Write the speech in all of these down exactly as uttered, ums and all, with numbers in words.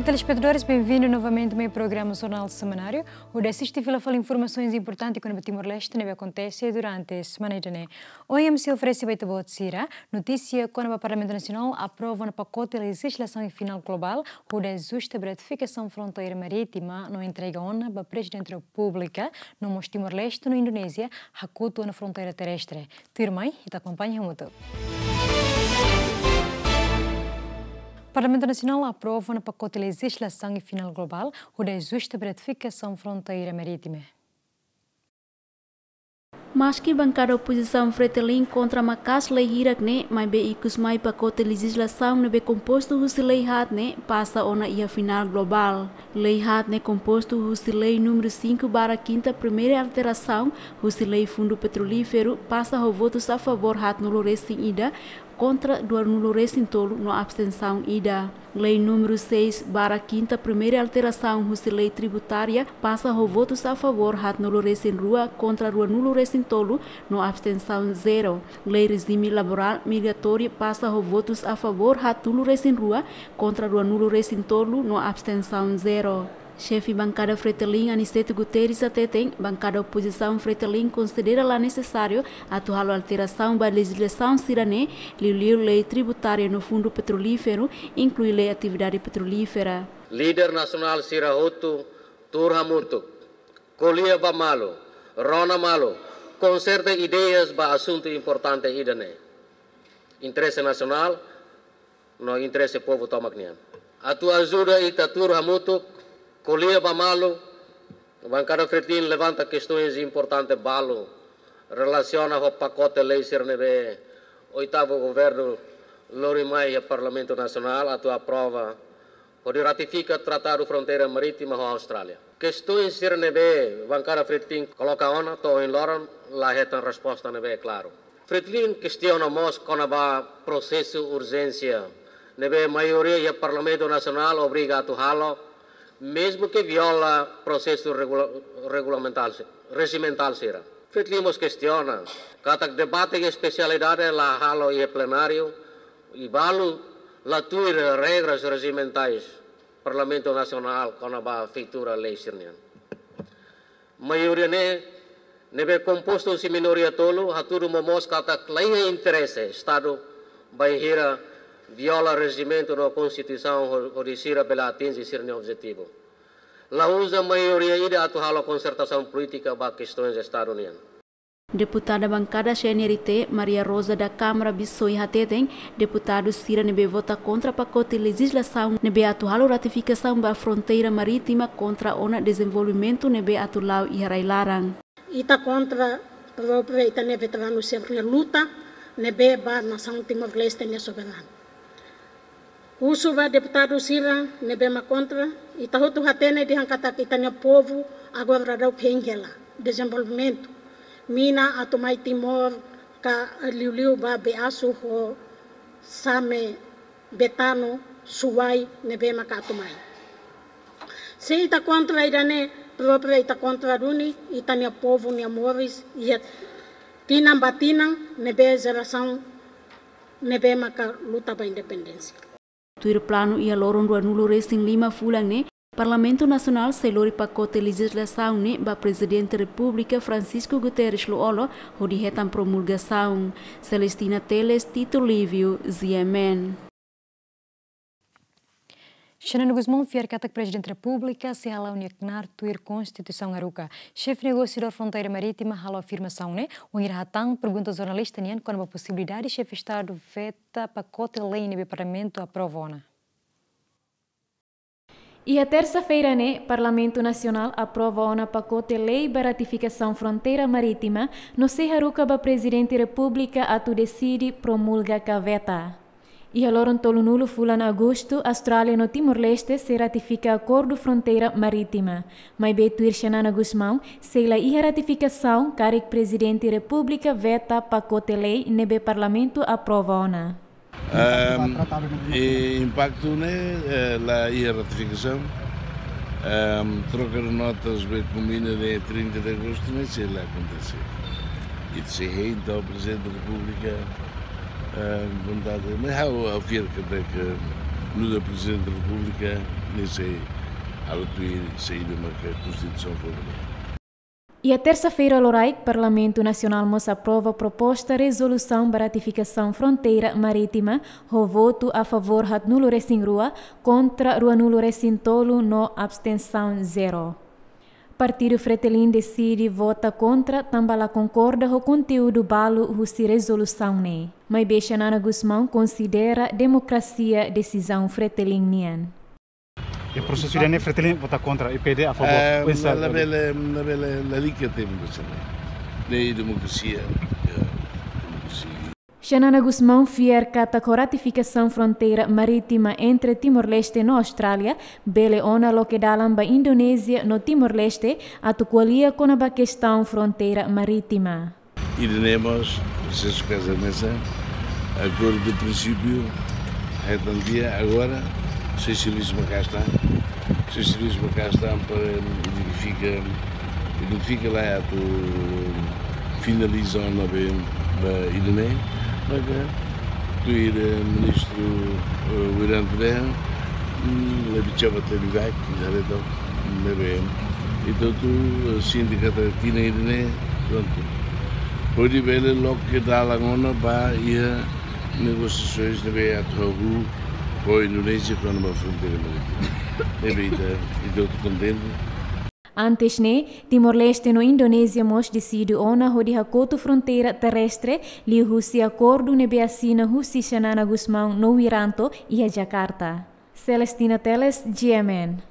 Telespetadores, benvindu novamente mai programa Jornál Semanáriu. Hodi asiste fila fali informasaun importante kona-ba Timor-Leste ne'ebé akontese durante semana ida-ne'e. Ohin ami sei oferese ba ita-boot sira notísia kona-ba Parlamentu Nasionál aprova ona pakote lejizlasaun final globál hodi ajusta ba ratifikasaun fronteira marítima no entrega ona ba Prezidente Repúblika, no mós Timor-Leste no Indonézia hakotu ona fronteira terrestre. Tuirmai, ita akompaña hamutuk. Parlamentu Nasionál aprova ona pakote lejizlasaun final globál hodi ajusta ba ratifikasaun fronteira marítima. Maski bankada opozisaun Fretilin kontra maka'as lei hirak ne'e, maibé ikus mai pakote lejizlasaun ne'ebé kompostu husi lei haat ne'e pasa ona iha final globál. Lei haat ne'e kompostu husi lei númeru cinco barra quinta primeira alterasaun husi lei Fundu Petrolíferu pasa ho votus a favór haatnulu resin ida, kontra dua nulu resin tolu no abstensaun ida. Lei númeru seis barra quinta primeira alterasaun husi lei tributária pasa ho votus a favór haatnulu resin rua, kontra dua nulu resin tolu no abstensaun zero. Lei rejime laborál migratóriu pasa ho votus a favór haatnulu resin rua, kontra dua nulu resin tolu no abstensaun zero. Xefe bankada Fretilin Aniceto Guterres hateten, bankada opozisaun Fretilin konsidera la nesesáriu atu halo alterasaun ba lejizlasaun sira-ne'e, liuliu lei tributária no Fundu Petrolíferu, inklui lei atividade petrolífera. Líder nasionál sira hotu tuur hamutuk, ko'alia ba malu, rona malu, konserta ideias ba asuntu importante ida-ne'e. Interese nasionál no interese povu tomak nian. Atu ajuda ita tuur hamutuk, ko'alia ba malu, bankada Fretilin levanta kestoens importante balu relasiona ho pakote lei sira ne'ebé oitavu governu lori mai iha Parlamentu Nasionál atu aprova hodi ratifika Tratadu Fronteira Marítima ho Austrália. Kestoens sira ne'ebé bankada Fretilin koloka ona to'o ohin loron la hetan resposta ne'ebé klaru. Fretilin kestiona mós kona-ba prosesu urjénsia ne'ebé maioria iha Parlamentu Nasionál obriga atu halo, mezmu ke viola prosesu regula-, regulamentál si-, rejimentál sira. Fretilin mós kestiona katak debate iha espesialidade la halo iha plenáriu, i balu la tuir regras rejimentais Parlamentu Nasionál kona-ba feitura lei sira-nian. Maioria ne'e, ne'ebé kompostu husi minoria tolu, hatudu momoos katak la iha interese Estadu bainhira viola rejimentu no Konstituisaun ho-, hodi sira bele atinje sira-nia objetivu. La uza maioria ida atu halo konsertasaun polítika ba kestoens Estadu nian. Deputada bankada C N R T, Maria Rosa da Câmara Bissoy hateten, deputadu sira ne'ebé vota kontra pakote lejizlasaun ne'ebé atu halo ratifikasaun ba fronteira marítima kontra ona dezenvolvimentu ne'ebé atu la'o iha rai-laran. Ita kontra própriu ita-nia veteranu sira-nia luta ne'ebé ba nasaun Timor-Leste nia soberanu. Husu ba deputadu sira ne'ebé mak kontra, ita hotu hatene dehan katak ita-nia povu agora daudaun hein hela dezenvolvimentu. Mina atu mai Timor ka liuliu ba Beasu ho Same, Betano, Suai ne'ebé maka atu mai. Se ita kontra ida-ne'e, própriu ita kontra duni ita-nia povu nia moris iha tinan ba tinan ne'ebé jerasaun ne'ebé maka luta ba independénsia. Tuir planu iha loron rua nulu resin lima fulan ne'e, Parlamentu Nasionál sei lori pakote lejizlasaun ne'e ba Prezidente Repúblika Francisco Guterres Lú-Olo hodi hetan promulgasaun. Celestina Teles, Tito Livio, G M N. Xanana Gusmão fiar katak Prezidente Repúblika sei hala'o nia knaar tuir Konstituisaun haruka. Xefe negosiadór fronteira marítima halo afirmasaun ne'e wainhira hatán pergunta jornalista nian kona-ba posibilidade Xefe Estadu veta pakote lei ne'ebé Parlamentu aprova ona. Iha tersa-feira ne'e, Parlamentu Nasionál aprova ona pakote lei ba ratifikasaun fronteira marítima, no sei haruka ba Prezidente Repúblika atu deside promulga ka veta. Iha loron tolunulu fulan Agostu, Austrália no Timor-Leste sei ratifika akordu fronteira marítima. Maibé tuir Xanana Gusmão, sei la iha ratifikasaun karik Prezidente Repúblika veta pakote lei ne'ebé Parlamentu aprova ona. Ahm, e impaktu ne'e, eh, la iha ratifikasaun. Ahm, troka de notas be kombina de trinta de agostu ne'e sei la akontese. Ita sei hein, entaun Prezidente Repúblika, ahm, vontade, mas ha'u, ha'u fiar katak nu'udar Prezidente Repúblika, Ne'e sei halo tuir saida maka Konstituisaun fó nian. Iha tersa-feira loraik, Parlamentu Nasionál mós aprova proposta rezolusaun ba ratifikasaun fronteira marítima, ho votu a favór haatnulu-resin-rua, kontra ruanulu-resin-tolu no abstensaun zero. Partidu Fretilin deside vota kontra tanba la konkorda ho konteúdu balu husi rezolusaun ne'e. Maibé Xanana Gusmão konsidera demokrasia desizaun Fretilin nian. Iha prosesu ida-ne'e Fretilin vota kontra, i PD a favór. Eh, Pois, labele, labele, lalika temi besane. Ne'e demokrasia. Ya, demokrasia. Xanana Gusmão fiar katak ho ratifikasaun fronteira marítima entre Timor-Leste no Austrália, bele ona loke dalan ba Indonézia no Timor-Leste atu ko'alia kona-ba kestaun fronteira marítima. Ida-ne'e mós, prosesu kaza nesa, akordu prinsípiu, hetan tiha agora, sei servisu maka'as tan, sei servisu maka'as tan para identifika, identifika lai atu finaliza ona be, ba ida-ne'e, maka tuir ministru, eh, Wiranto dehan, mm, lebih cepat lebih baik, misalnya itu, lebih, ita hotu, eh, sindikata tina ida-ne'e, prontu. Hodi bele loke dalan ona ba iha negosiasaun ne'ebé atu hahú ho Indonézia kona-ba fronteira marítima. Ne'ebé ita, ita hotu kontente. Antes ne'e, Timor-Leste no Indonézia mós deside ona hodi hakotu fronteira terrestre, liuhusi akordu ne'ebé asina husi Xanana Gusmão no Wiranto iha Jakarta. Celestina Teles, G M N.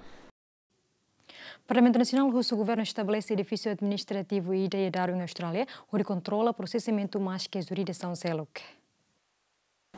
Parlamentu Nasionál husu governu estabelese edifísiu administrativu ida iha Darwin, Austrália, hodi kontrola prosesamentu maske jurisdisaun seluk.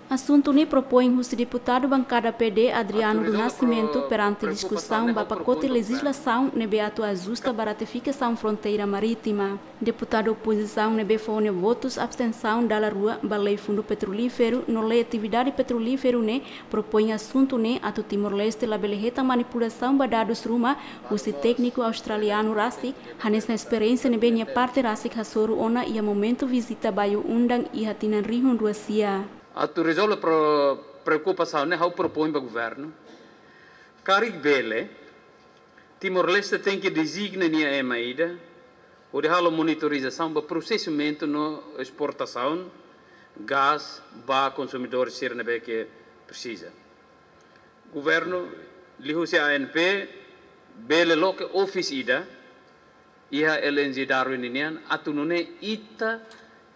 Asuntu ne'e propoin husi deputadu bankada P D, Adriano do Nascimento, perante diskusaun ba pakote lejizlasaun ne'ebé atu ajusta ba ratifikasaun fronteira marítima. Deputadu opozisaun ne'ebé fó nia votus abstensaun dala rua ba lei fundu petrolíferu no lei atividade petrolíferu ne'e propoin asuntu ne'e atu Timor-Leste labele hetan manipulasaun ba dadus ruma husi tékniku australianu rasik, hanesan esperiénsia ne'ebé nia parte rasik hasoru ona iha momentu vizita Bayu Undang iha tinan rihun rua sia. Atu rezolve pro-, preokupasaun ne'e ha'u propoin ba governu. Karik bele, Timor-Leste tenke dezigna nia ema ida, hodi halo monitorizasaun ba prosesamentu no esportasaun gás ba konsumidór sira ne'ebé ke presiza. Governu, liuhusi A N P, bele loke ofis ida, iha L N G Darwin nian, atu nune'e ita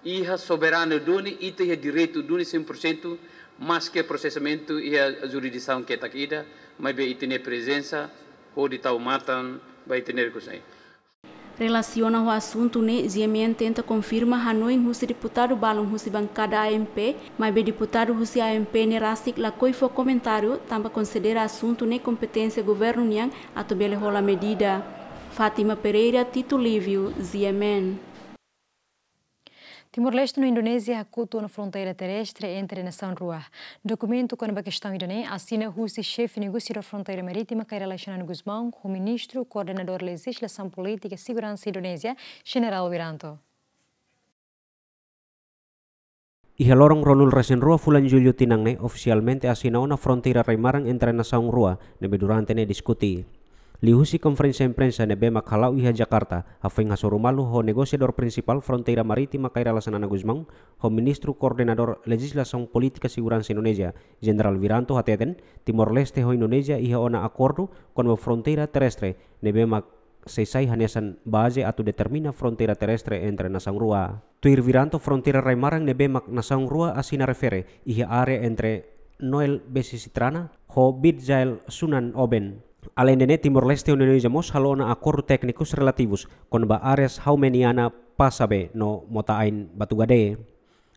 iha soberania duni, ita iha direitu duni cem por cento, maske prosesamentu iha jurisdisaun ketak ida, maibé ita-nia prezensa hodi tau matan ba ita-nia rikusoin. Relasiona ho asuntu ne'e, G M N tenta konfirma hanoin husi deputadu balun husi bankada A N P, maibé deputadu husi A N P ne'e rasik lakohi fó komentáriu, tanba konsidera asuntu ne'e kompeténsia governu nian atu bele hola medida. Fátima Pereira, Tito Lívio, G M N. Timor-Leste no Indonézia hakotu ona fronteira terrestre entre nasaun rua. Dokumentu kona-ba kestaun ida-ne'e asina husi xefe negosiadór fronteira marítima Kay Rala Xanana Gusmão ho ministru koordenadór lejizlasaun polítika seguransa Indonézia, Jenerál Wiranto. Iha loron ruanulu-resin-rua fulan Jullu tinan ne'e ofisialmente asina ona fronteira rai-maran entre nasaun rua ne'ebé durante ne'e diskuti. Liuhusi konferénsia imprensa ne'ebé mak hala'o iha Jakarta, hafoin hasoru malu ho negosiadór prinsipál fronteira marítima Kay Rala Xanana Gusmão, ho ministru koordenadór lejizlasaun polítika seguransa Indonézia, Jenerál Wiranto hateten, Timor-Leste ho Indonézia iha ona akordu kona-ba fronteira terrestre ne'ebé mak sei sai hanesan baze atu determina fronteira terrestre entre nasaun rua. Tuir Wiranto, fronteira rai-maran ne'ebé mak nasaun rua asina refere iha área entre Noel Besisitrana ho Bidjail Sunan Oben. Aleinde ne'e, Timor-Leste ho Indonézia mós halo ona akordu téknikus relativus kona-ba área Haumeniana Pasabe no Mota Ain Batugade.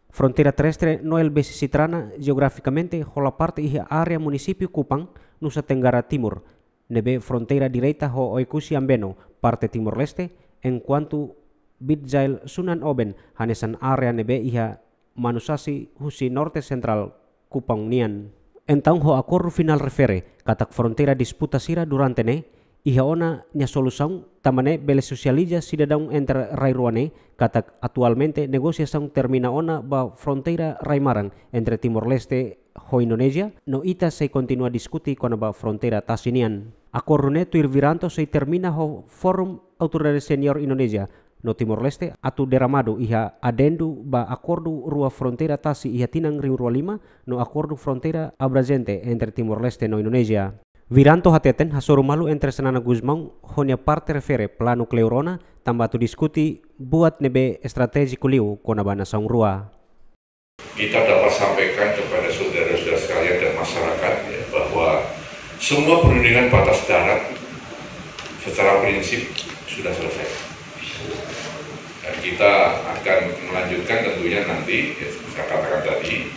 Fronteira terrestre Noel Besisitrana jeografikamente hola parte iha área munisípiu Kupang, Nusa Tenggara Timur, ne'ebé fronteira direta ho Oekusi Ambeno, parte Timor-Leste, enkuantu Bidjail Sunan Oben hanesan área ne'ebé iha Manusasi husi norte sentrál Kupang nian. Entaun ho akordu finál refere katak fronteira disputa sira durante ne'e iha ona nia solusaun, tanba ne'e bele sosializa sidadaun entre rai rua ne'e katak atualmente negosiasaun termina ona ba fronteira rai-maran entre Timor-Leste ho Indonézia, no ita sei kontinua diskute kona-ba fronteira tasi nian. Akordu ne'e tuir Wiranto sei termina ho Forum Autoridade Senior Indonézia no Timor-Leste atu deramadu iha adendu ba akordu rua fronteira tasi iha tinan rihun rua lima no akordu fronteira abrangente entre Timor-Leste no Indonézia. Wiranto hateten hasoru malu entre Xanana Gusmão ho nia parte refere planu kleur ona, tanba atu diskute buat ne'ebé estratéjiku liu kona-ba nasaun rua. Kita dapat sampaikan kepada saudara-saudara sekalian dan masyarakat, ya, bahwa semua perundingan batas darat secara prinsip sudah selesai. Dan kita akan melanjutkan tentunya nanti, ya, saya katakan tadi,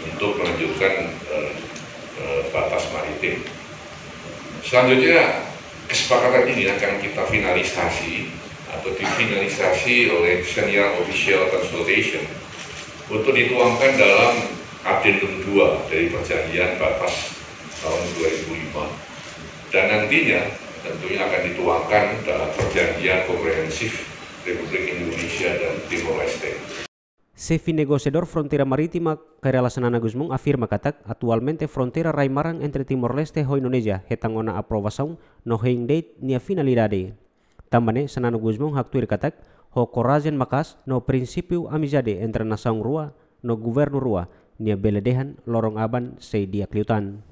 untuk melanjutkan, eh, eh, batas maritim. Selanjutnya, kesepakatan ini akan kita finalisasi atau difinalisasi oleh Senior Official Consultation untuk dituangkan dalam Adendum dua dari Perjanjian Batas tahun dua ribu lima. Dan nantinya tentunya akan dituangkan dalam Perjanjian Komprehensif Republik Indonesia dan Timor Leste. Xefe negosiadór fronteira marítima Kay Rala Xanana Gusmão afirma katak atualmente fronteira rai-maran entre Timor-Leste ho Indonézia hetan ona aprovasaun no hein de'it nia finalidade. Tanba ne'e Xanana Gusmão haktuir katak ho korajen maka'as no prinsípiu amizade entre nasaun rua no governu rua, nia bele dehan loron aban sei di'ak liután.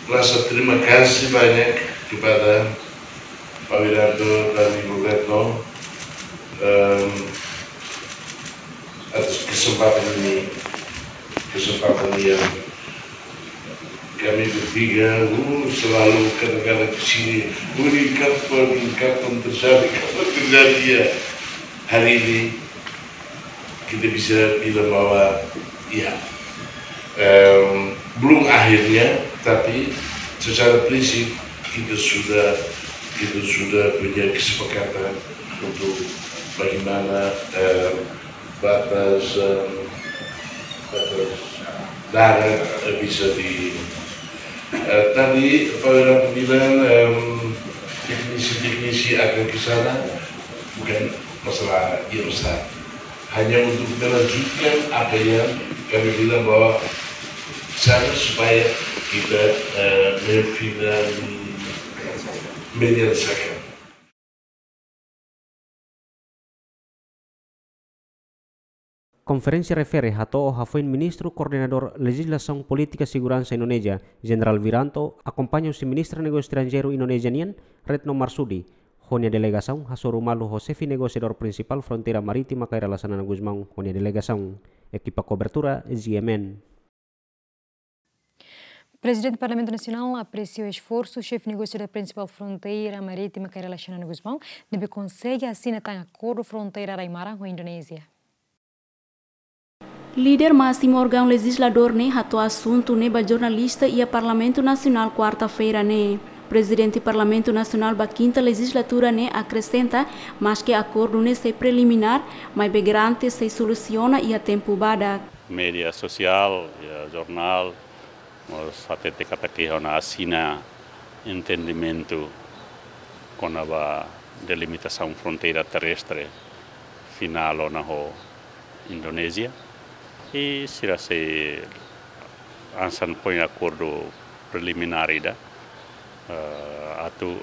Rasa terima kasih banyak kepada Pak Wiranto dan Ibu Retno, em, atas kesempatan ini, kesempatan yang kami bertiga, uh, selalu kadang-kadang ke sini, uh, ini kapan, kapan terjadi, kapan terjadi, ya. Hari ini kita bisa bilang bahwa, ya, em, belum akhirnya, tapi secara prinsip kita sudah, kita sudah punya kesepakatan untuk bagaimana, em, batas, em, batas darat, eh, bisa di, eh, tadi Pak Wiranto bilang, em, teknisi-teknisi akan ke sana, bukan masalah yang besar. Hanya untuk melanjutkan apa yang kami bilang bahwa sana supaya kita, eh, memfinali-, menyelesaikan. Konferénsia refere hato'o hafoin Ministru Koordenadór Lejizlasaun Polítika Seguransa Indonézia, Jenerál Wiranto, akompaña husi Ministra Negósiu Estranjeiru Indonézia nian, Retno Marsudi, ho nia delegasaun hasoru malu ho Xefe Negosiadór Prinsipál Fronteira Marítima Kay Rala Xanana Gusmão ho nia delegasaun. Ekipa kobertura, Z M N. Prezidente Parlamentu Nasionál apresia esforsu Xefe Negosiadór Prinsipál Fronteira Marítima Kay Rala Xanana Gusmão, ne'ebé konsege asina tan akordu fronteira rai-maran ho Indonézia. Líder másimu órgaun lejizladór ne'e hato'o asuntu ne'e ba jornalista iha Parlamentu Nasionál kuarta-feira ne'e. Prezidente Parlamentu Nasionál ba kinta lejizlatura ne'e akresenta, maske akordu ne'e sei preliminár, maibé garante sei solusiona iha tempu badak. Média sosiál, iha jornál, mós hatete katak iha ona asina entendimentu kona-ba delimitasaun fronteira terrestre finál ona ho Indonézia. I sira sei hanesan foin akordu preliminár ida, eh, atu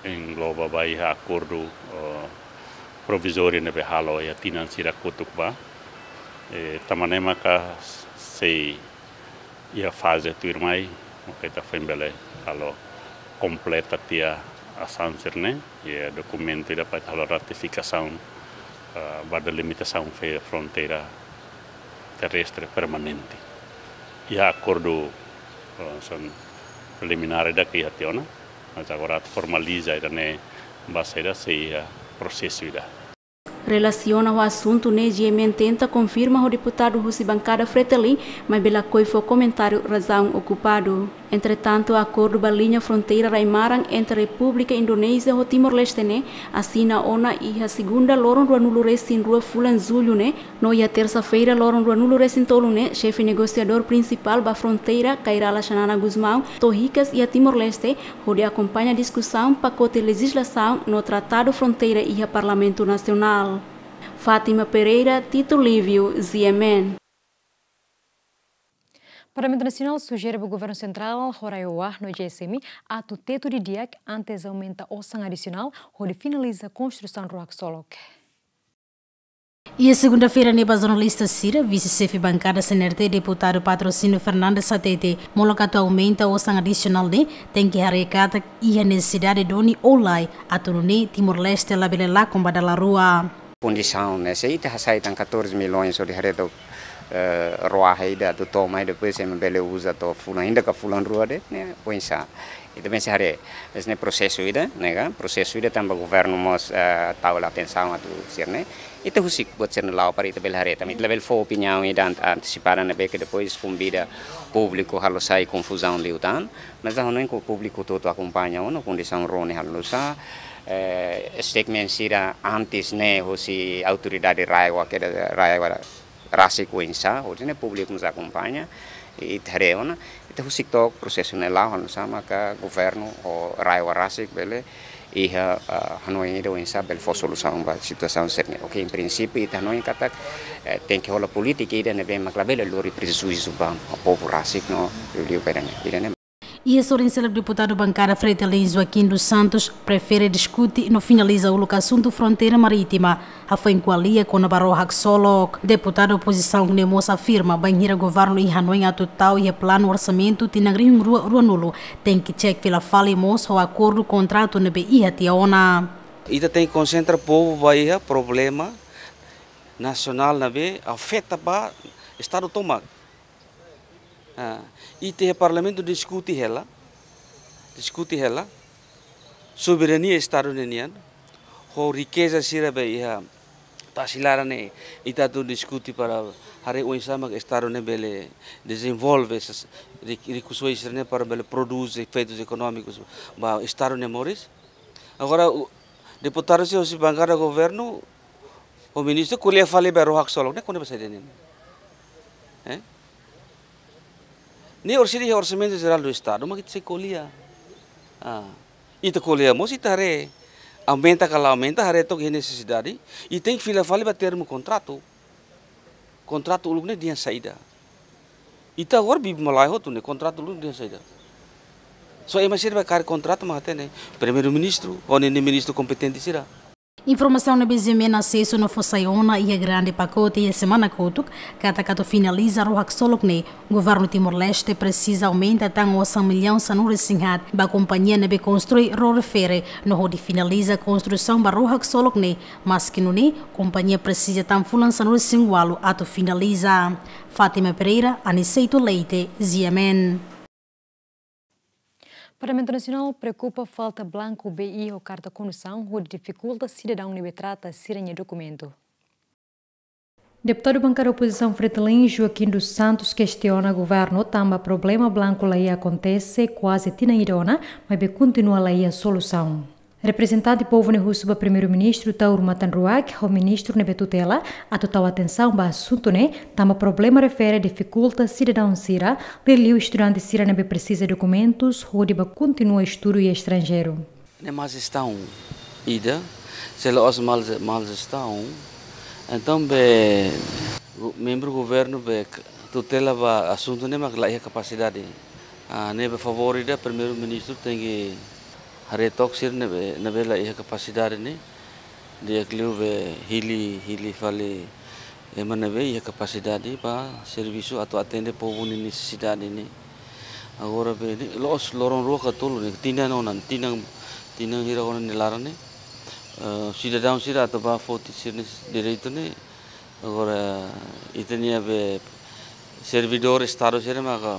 engloba ba iha akordu, eh, provizóriu ne'ebé halo iha tinan sira kotuk ba. Eh, tanba ne'e maka sei iha faze tuirmai, maka ita foin bele halo kompleta tiha asaun sira-ne'e, iha dokumentu ida para ita halo ratifikasaun, eh, ba delimitasaun fe-, fronteira terrestre permanente. Iha akordu, eh, hanesan preliminár ida ke iha tiha ona, mas agora atu formaliza ida-ne'e ba saida sei iha prosesu ida. Relasiona ho asuntu ne'e, G M N tenta konfirma ho deputadu husi bankada Fretilin, maibé lakohi fó komentáriu razaun okupadu. Entretantu, akordu ba liña fronteira rai-maran entre Repúblika Indonézia ho Timor-Leste ne'e asina ona iha segunda loron ruanulu-resin-rua fulan Jullu ne'e, no iha tersa-feira loron ruanulu-resin-tolu ne'e, xefe negosiadór prinsipál ba fronteira, Kay Rala Xanana Gusmão, to'o hikas iha Timor-Leste, hodi akompaña diskusaun pakote lejizlasaun no tratadu fronteira iha Parlamentu Nasionál. Fátima Pereira, Tito Lívio, Z M N. Parlamentu Nasionál sujere ba Governu Sentrál, ho RAEOA no G S M atu tetu didi'ak antes aumenta osan adisionál hodi finaliza konstrusaun rua haksolok. Iha segunda-feira ne'e ba jornalista sira, vise-xefe bankada C N R T, deputadu Patrocínio Fernandes hatete, molok atu aumenta osan adisionál ne'e, tenke haree katak iha nesesidade duni ou lae, atu nune'e Timor-Leste labele lakon ba dala rua. Kondisaun ne'e, se ita hasai tan catorze milhões hodi haree tok, eh, rua ida atu toma, i depois ema bele uza to'o fulan, ainda ka fulan rua de'it, ne'e, oinsá. Ita bele haree, esse ne'e prosesu ida, ne'e ka, prosesu ida tanba governu mós, eh, tau hela atensaun atu sira-ne'e. Ita husik buat sira-ne'e la'o para ita bele haree, tanba ita labele fó opiniaun ida ant-, antesipada ne'ebé ke depois konvida públiku halo sai konfuzaun liután. Mas ha'u hanoin katak públiku hotu-hotu akompaña ona kondisaun rua ne'e halo nu'usá, eh, statement sira antes ne'e husi autoridade RAEOA, ke RAEOA rasik oinsá, hodi nune'e públiku mós akompaña, i ita haree ona, ita husik took prosesu ne'e la'o, halo nu'usá maka governu ho RAEOA rasik bele iha, ah, hanoin ida oinsá bele fó solusaun ba situasaun sira-ne'e. Oke, em princípio, ita hanoin katak, eh, tenke hola polítika ida ne'ebé mak labele lori prejuízu ba povu rasik no liuliu ba ida-ne'e. Ida-ne'e. Iha sorin seluk, deputadu bankada Fretilin Joaquim dos Santos prefere diskute no finaliza uluk asuntu fronteira marítima, hafoin ko'alia kona-ba ró haksolok. Deputadu opozisaun ne'e mós afirma bainhira governu iha hanoin atu tau iha planu orsamentu tinan rihun rua ruanulu, tenke cek fila fali mós ho akordu kontratu ne'ebé iha tiha ona. Ita tenke konsentra povu ba iha problema nasionál ne'ebé afeta ba Estadu tomak. Ah, ita iha Parlamentu diskute hela, diskute hela soberania Estadu ne'e nian, ho rikeza sira be iha tasi laran ne'e, ita atu diskute para haree oinsá mak Estadu ne'e bele dezenvolve essas ri-, rikusoin sira-ne'e para bele prodús efeitus ekonómikus ba Estadu ne'e moris. Agora, o, deputadu sira husi bankada governu, o ministru ko'alia fali ba ró haksolok, ne'e kona-ba saida ne'e? Eh? Ne'e orsida iha Orsamentu Jerál do Estadu, mak ita sei ko'alia. Ah, ita ko'alia mós ita haree, aumenta ka la aumenta, haree took iha nesesidade, i tenke fila fali ba termu kontratu. Kontratu uluk ne'e dehan saida. Ita agora bibi malae hotu ne'e, kontratu uluk dehan saida. Só ema sira be kaer kontratu mak hatene, Primeiru-Ministru, ho ninia ministru kompetente sira. Informasaun ne'ebé GMN asesu no fó sai ona iha grande pakote iha semana kotuk, katak atu finaliza ró haksolok ne'e, governu Timor-Leste presiza aumenta tan osan millaun sanulu-resin-haat ba kompañia ne'ebé konstrui ró refere, no hodi finaliza konstrusaun ba ró haksolok ne'e, maski nune'e, kompañia presiza tan fulan sanulu-resin-ualu atu finaliza. Fátima Pereira, Aniceto Leite, GMN. Parlamentu Nasionál preokupa falta blanku B I ho karta kondusaun hodi difikulta sidadaun ne'ebé trata sira-nia dokumentu. Deputadu bankada opozisaun Fretilin, Joaquim dos Santos, kestiona governu tanba problema blanku la iha akontese kuaze tinan ida ona, maibé kontinua la iha solusaun. Reprezentante povu ne'e husu ba Primeiru-Ministru Taur Matan Ruak ho ministru ne'ebé tutela atu tau atensaun ba asuntu ne'e, tanba problema refere difikulta sidadaun sira, liuliu estudante sira ne'ebé presiza dokumentus hodi ba kontinua estudu iha estranjeiru. Ne'e má jestaun ida, se la'ós mal, mal jestaun, entaun be gu-, membru governu be k-, tutela ba asuntu ne'e mak la iha kapasidade. Ah, ne'e be favór ida Primeiru-Ministru tenke haree took sira ne'ebé, ne'ebé la iha kapasidade ne'e, di'ak liu be hili, hili fali ema ne'ebé iha kapasidade ba servisu atu atende povu nia nesesidade ne'e. Agora be ne'e, loos loron rua ka tolu ne'e, tinan ona, tinan, tinan hira ona nia laran ne'e. Eh, sidadaun sira atu ba foti sira-nia direitu ne'e. Agora, ita-nia be servidór Estadu sira maka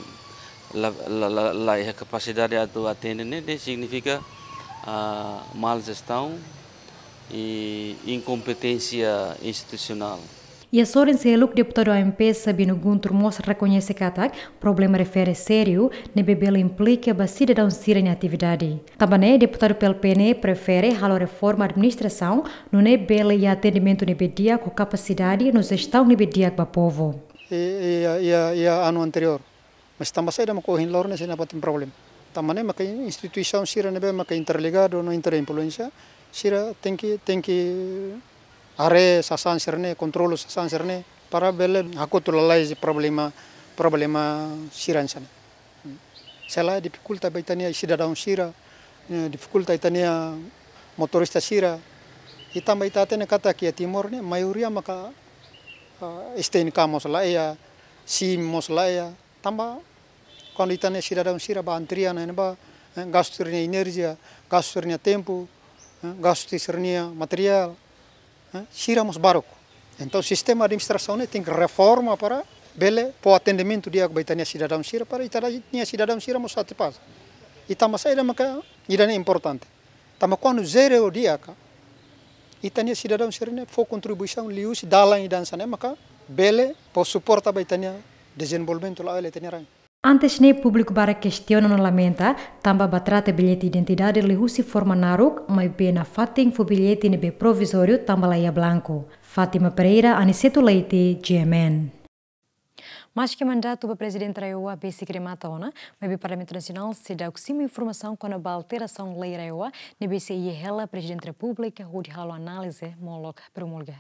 la, la, la, la iha kapasidade atu atende ne'e, ne'e signifika, ah, mal jestaun i inkompeténsia institusionál. Iha sorin seluk, deputadu A M P Sabino Guntur mós rekoñese katak problema refere sériu ne'ebé bele implika ba sidadaun sira-nia atividade. Tanba ne'e, deputadu P L P ne'e prefere halo reforma administrasaun, nune'e bele iha atendimentu ne'ebé di'ak ho kapasidade no jestaun ne'ebé di'ak ba povu. I, i, i, i anu anteriór. Mas tanba saida mak ohin loron ne'e sei nafatin problema. Tanba ne'e maka instituisaun sira ne'ebé maka interligadu no interinfluénsia, sira tenke, tenke haree sasán sira-ne'e, kontrolu sasán sira-ne'e, para bele hakotu lalais problema Problema sira hanesan ne'e. Se lae difikulta ba ita-nia sidadaun sira, eh, difikulta ita-nia motorista sira. I tanba ita hatene katak iha Timor ne'e maioria maka, ah, S T N K mós laiha, SIM mós laiha. Tanba kuandu ita-nia sidadaun sira bá antrian ne'ebá, eh, gastu sira-nia enerjia, gastu sira-nia tempu, eh, gastu sira-nia materiál, eh, sira mós baruk. Entaun sistema administrasaun ne'e tenke reforma para bele fó atendimentu di'ak ba ita-nia sidadaun sira para ita-nia sidadaun sira mós satisfás. I tanba saida maka ida-ne'e importante? Tanba kuandu zero di'ak, ita-nia sidadaun sira-ne'e fó kontribuisaun liuhusi dalan ida hanesan ne'e maka bele fó suporta ba ita-nia dezenvolvimentu la'o hela ita-nia rain. Antes ne'e públiku barak kestiona no lamenta, tanba ba trata billete identidade liuhusi forma naruk, maibé nafatin fó billete ne'ebé provizóriu tanba laiha blanku. Fátima Pereira, Aniceto Leite, G M N. Maski mandatu ba Prezidente RAEOA besik remata ona, maibé Parlamentu Nasionál seidauk simu informasaun kona-ba alterasaun lei RAEOA, ne'ebé sei iha hela Prezidente Repúblika hodi halo análize molok promulga.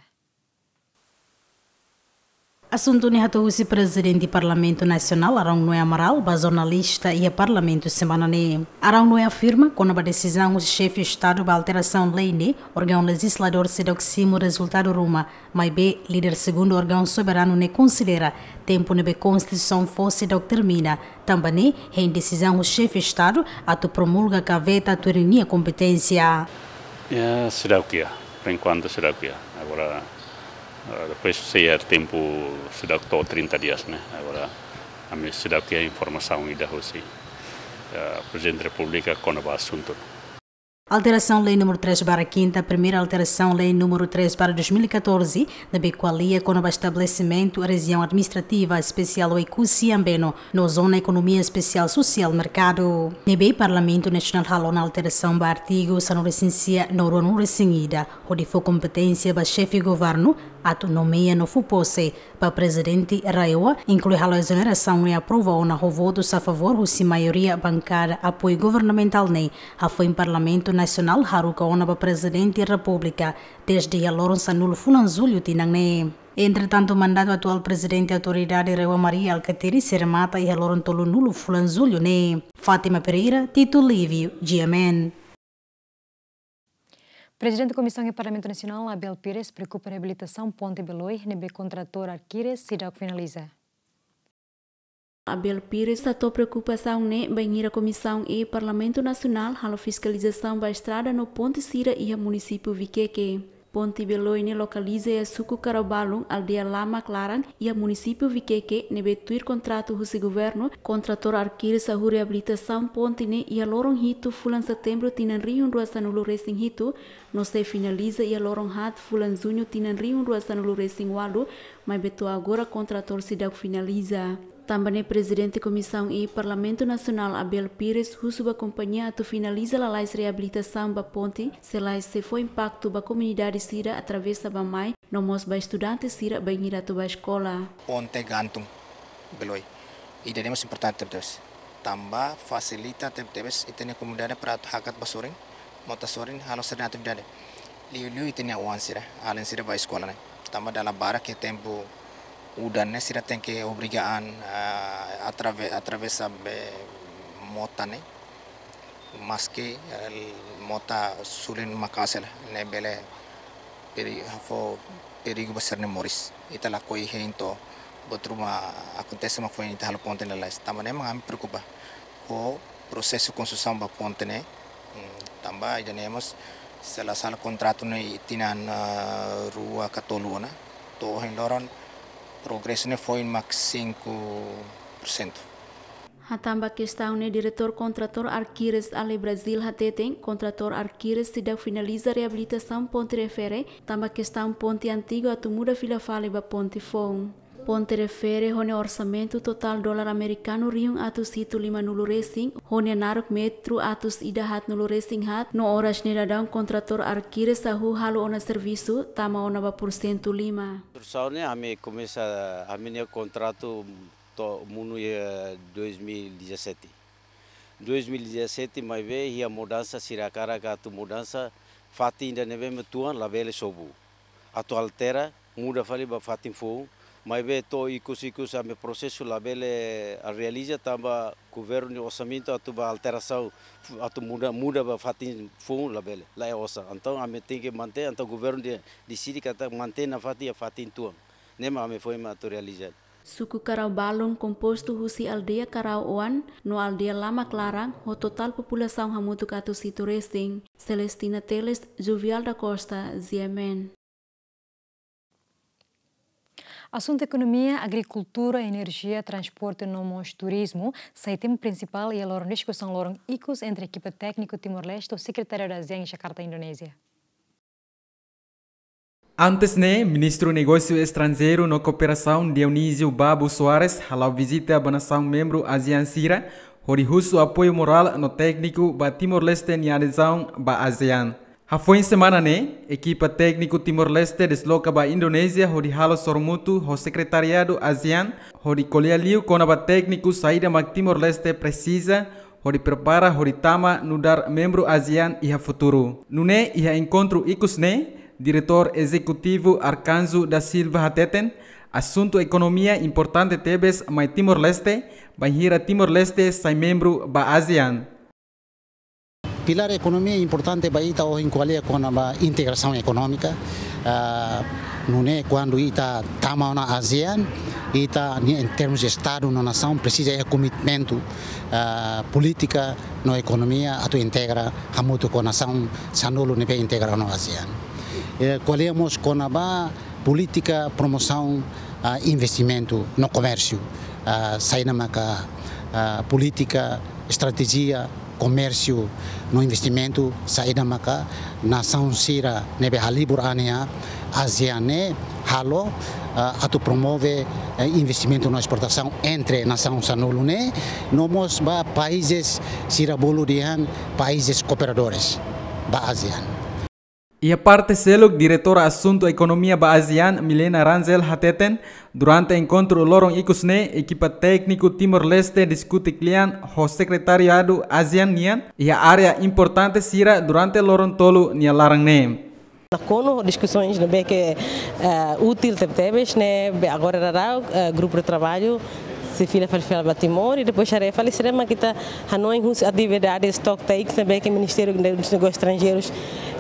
Asuntu ne'e hato'o husi Prezidente Parlamentu Nasionál, Arão Noé Amaral, ba jornalista iha Parlamentu semana ne'e. Arão Noé afirma, kona-ba desizaun husi Xefe Estadu ba alterasaun lei ne'e, órgaun lejizladór seidauk simu rezultadu ruma, maibé líder segundu órgaun soberanu ne'e konsidera tempu ne'ebé Konstituisaun fó seidauk termina, tanba ne'e hein desizaun husi Xefe Estadu atu promulga ka veta tuir ninia kompeténsia. Ya, seidauk iha. Por enquanto seidauk iha. Agora, eh, depois sei iha tempu seidauk to'o trinta dias, ne'e. Agora, ami seidauk iha informasaun ida husi, eh, Prezidente Repúblika kona-ba asuntu. Alterasaun Lei númeru três barra quinta, primeira alterasaun Lei númeru três barra dois mil e catorze, ne'ebé ko'alia kona-ba estabelesimentu Rejiaun Administrativa Espesiál Oekusi Ambeno no Zona Ekonomia Espesiál Sosiál Merkadu. Ne'ebé Parlamentu Nasionál halo ona alterasaun ba artigu sanulu-resin-sia no ruanulu-resin-ida, hodi fó kompeténsia ba Xefe Governu atu nomeia no fó pose ba Prezidente RAEOA, inklui halo ezonerasaun ne'e aprova ona ho votus a favór husi maioria bankada apoiu governamentál ne'e hafoin Parlamentu Nasionál haruka ona ba Prezidente Repúblika dezde iha loron sanulu fulan Jullu tinan ne'e. Entretantu, mandatu atuál Prezidente Autoridade RAEOA Mari Alkatiri sei remata iha loron tolunulu fulan Jullu ne'e. Fátima Pereira, Tito Livio, G M N. Prezidente Komisaun iha Parlamentu Nasionál, Abel Pires, preokupa reabilitasaun Ponte Beloi, ne'ebé kontratór Arquires seidauk finaliza. Abel Pires hato'o preokupasaun ne'e bainhira Komisaun E Parlamentu Nasionál halo fiskalizasaun ba estrada no ponte sira iha munisípiu Viqueque. Ponte Beloi ne'e lokaliza iha suku Karabalun, aldeia Lamak Laran, iha munisípiu Viqueque, ne'ebé tuir kontratu husi governu, kontratór Arquires hahú reabilitasaun ponte ne'e iha loron hitu fulan Setembru tinan rihun rua sanulu-resin-hitu, no sei finaliza iha loron haat fulan Juñu tinan rihun rua sanulu-resin-ualu, maibé to'o agora kontratór seidauk finaliza. Tanba ne'e Prezidente Komisaun E Parlamentu Nasionál Abel Pires husu ba kompañia atu finaliza lalais reabilitasaun ba ponte, se lae sei fó impaktu ba komunidade sira atravesa bá-mai, no mós ba estudante sira bainhira atu bá eskola. Ponte Gantung Beloi. Ida-ne'e mós importante tebetebes. Tanba fasilita tebetebes ita-nia komunidade para atu hakat bá sorin, mota sorin, halo sira-nia atividade. Liuliu ita-nia oan sira, alin sira bá eskola ne'e. Tanba dala barak iha tempu udan ne'e sira tenke obriga an, ah, atrave-, atravesa be mota ne'e. Maski, eh, mota sulin maka'as hela, ne'e bele peri-, fó perigu ba sira-nia moris. Ita lakohi hein to'o buat ruma akontese mak foin ita halo ponte ne'e lalais. Tanba ne'e mak ami preokupa ho prosesu konstrusaun ba ponte ne'e. Hmm, tanba ida-ne'e mós se la sala kontratu ne'e tinan, eh, rua ka tolu ona. To'o ohin loron progresu ne'e foin mak cinco por cento. Hatán ba kestaun ne'e, Diretór Kontratór Arquires Ale Brasil hateten, kontratór Arquires seidauk finaliza reabilitasaun ponte refere, tanba kestaun ponte antigu atu muda fila fali ba ponte foun. Ponte refere ho nia orsamentu totál dolar amerikanu rihun atus hitu limanulu-resin, ho nia naruk metru atus ida haatnulu-resin-haat, no oras ne'e daudaun kontratór Arquires hahú halo ona servisu, tama ona ba pursentu lima. Konstrusaun ne'e ami komesa, ami-nia kontratu to'o monu iha dois mil e dezassete. Dois mil e dezassete maibé iha mudansa, sira hakarak atu mudansa, fatin ida ne'ebé mak tuan labele sobu. Atu altera, muda fali ba fatin foun, Maibé to'o ikus-ikus ami prosesu labele realiza tanba governu nia orsamentu atu ba alterasaun, atu muda, muda ba fatin foun labele, laiha osan. Entaun ami tenke mantein, entaun governu de-, deside katak mantein nafatin iha fatin tuan. Ne'e mak ami foin mak atu realiza. Suku Karau Balun kompostu husi aldeia Karau Oan no aldeia Lamak Laran, ho totál populasaun hamutuk atus hitu resin. Celestina Teles, Jovial da Costa, G M N. Asuntu ekonomia, agrikultura, enerjia, transporte no mós turizmu sai tema prinsipál iha loron diskusaun loron ikus entre ekipa tékniku Timor-Leste ho Sekretariadu ASEAN iha Jakarta, Indonézia. Antes ne'e, Ministru Negósiu Estranjeiru no Kooperasaun Dionísio Babo Soares hala'o vizita ba nasaun membru ASEAN sira, hodi husu apoiu morál no tékniku ba Timor-Leste nia adezaun ba ASEAN. Hafoin semana ne'e, ekipa tékniku Timor-Leste desloka ba Indonézia hodi halo sorumutu ho Sekretariadu ASEAN, hodi ko'alia liu kona-ba tékniku saida mak Timor-Leste presiza, hodi prepara hodi tama nu'udar membru ASEAN iha futuru. Nune'e iha enkontru ikus ne'e, Diretór Ezekutivu Arcanjo da Silva hateten, asuntu ekonomia importante tebes mai Timor-Leste, bainhira Timor-Leste sai membru ba ASEAN. Pilár ekonomia importante ba ita ohin ko'alia kona-ba integrasaun ekonómika. Ah, nune'e kuandu ita tama ona ASEAN, ita-nia em termos de Estadu no nasaun presiza iha komitmentu, ah, polítika no ekonomia atu integra hamutuk ho nasaun sanulu ne'ebé integra ona ASEAN. Eh, ko'alia mós kona-ba polítika promosaun, ah, investimentu no komérsiu. Ah, saida maka, ah, polítika, estratéjia, komérsiu no investimentu, saida maka nasaun sira ne'ebé halibur an iha ASEAN ne'e halo, ah, atu promove, eh, investimentu no esportasaun entre nasaun sanulu ne'e, no mós ba países sira bolu dehan países kooperadores ba ASEAN. Iha parte seluk, Diretora Asuntu Ekonomia ba ASEAN, Milena Rangel hateten, durante enkontru loron ikus ne'e, ekipa tékniku Timor-Leste diskute kle'an ho Sekretariadu ASEAN nian iha área importante sira durante loron tolu nia laran ne'e. Nakonu diskusoens ne'ebé ke, eh, útil tebetebes ne'ebé agora daudaun, eh, grupu de traballu sei fila fali fila ba Timor, i depois haree fali saida mak ita hanoin husi atividades to'o takes ne'ebé ke Ministériu dos Negósius Estranjeirus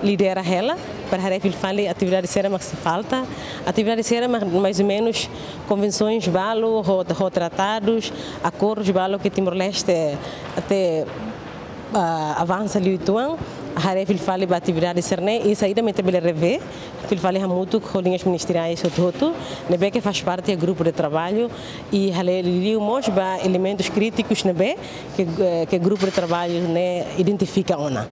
lidera hela, para haree fali fali atividade saida mak sei falta, atividade saida mak mais ou menos konvensoens balu, ho, ho tratadus, akordus balu ke Timor-Leste até, ah, avansa liu uitoan, haree fila fali ba atividade sira-ne'e, i saida mak ita bele revee fila fali hamutuk ho liñas ministeriais hotu-hotu ne'ebé ke faz parte grupu de traballu, i haree liu mós ba elementus krítikus ne'ebé ke, eh, ke grupu de traballu ne'e identifika ona.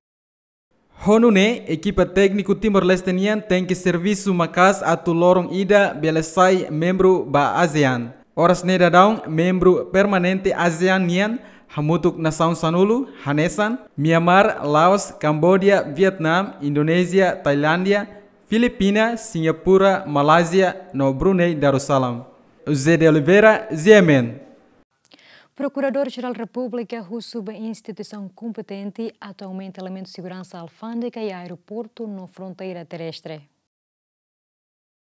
Ho nune'e, ekipa tékniku Timor-Leste nian tenke servisu maka'as atu loron ida bele sai membru ba ASEAN. Oras ne'e daudaun membru permanente ASEAN nian hamutuk nasaun sanulu, hanesan Myanmar, Laos, Kamboja, Vietnam, Indonézia, Tailándia, Filipina, Singapura, Malázia no Brunei Darussalam. José de Oliveira, G M N. Prokuradór-Jerál Repúblika husu ba instituisaun kompetente atu aumenta elementu seguransa alfándega iha aeroportu no fronteira terrestre.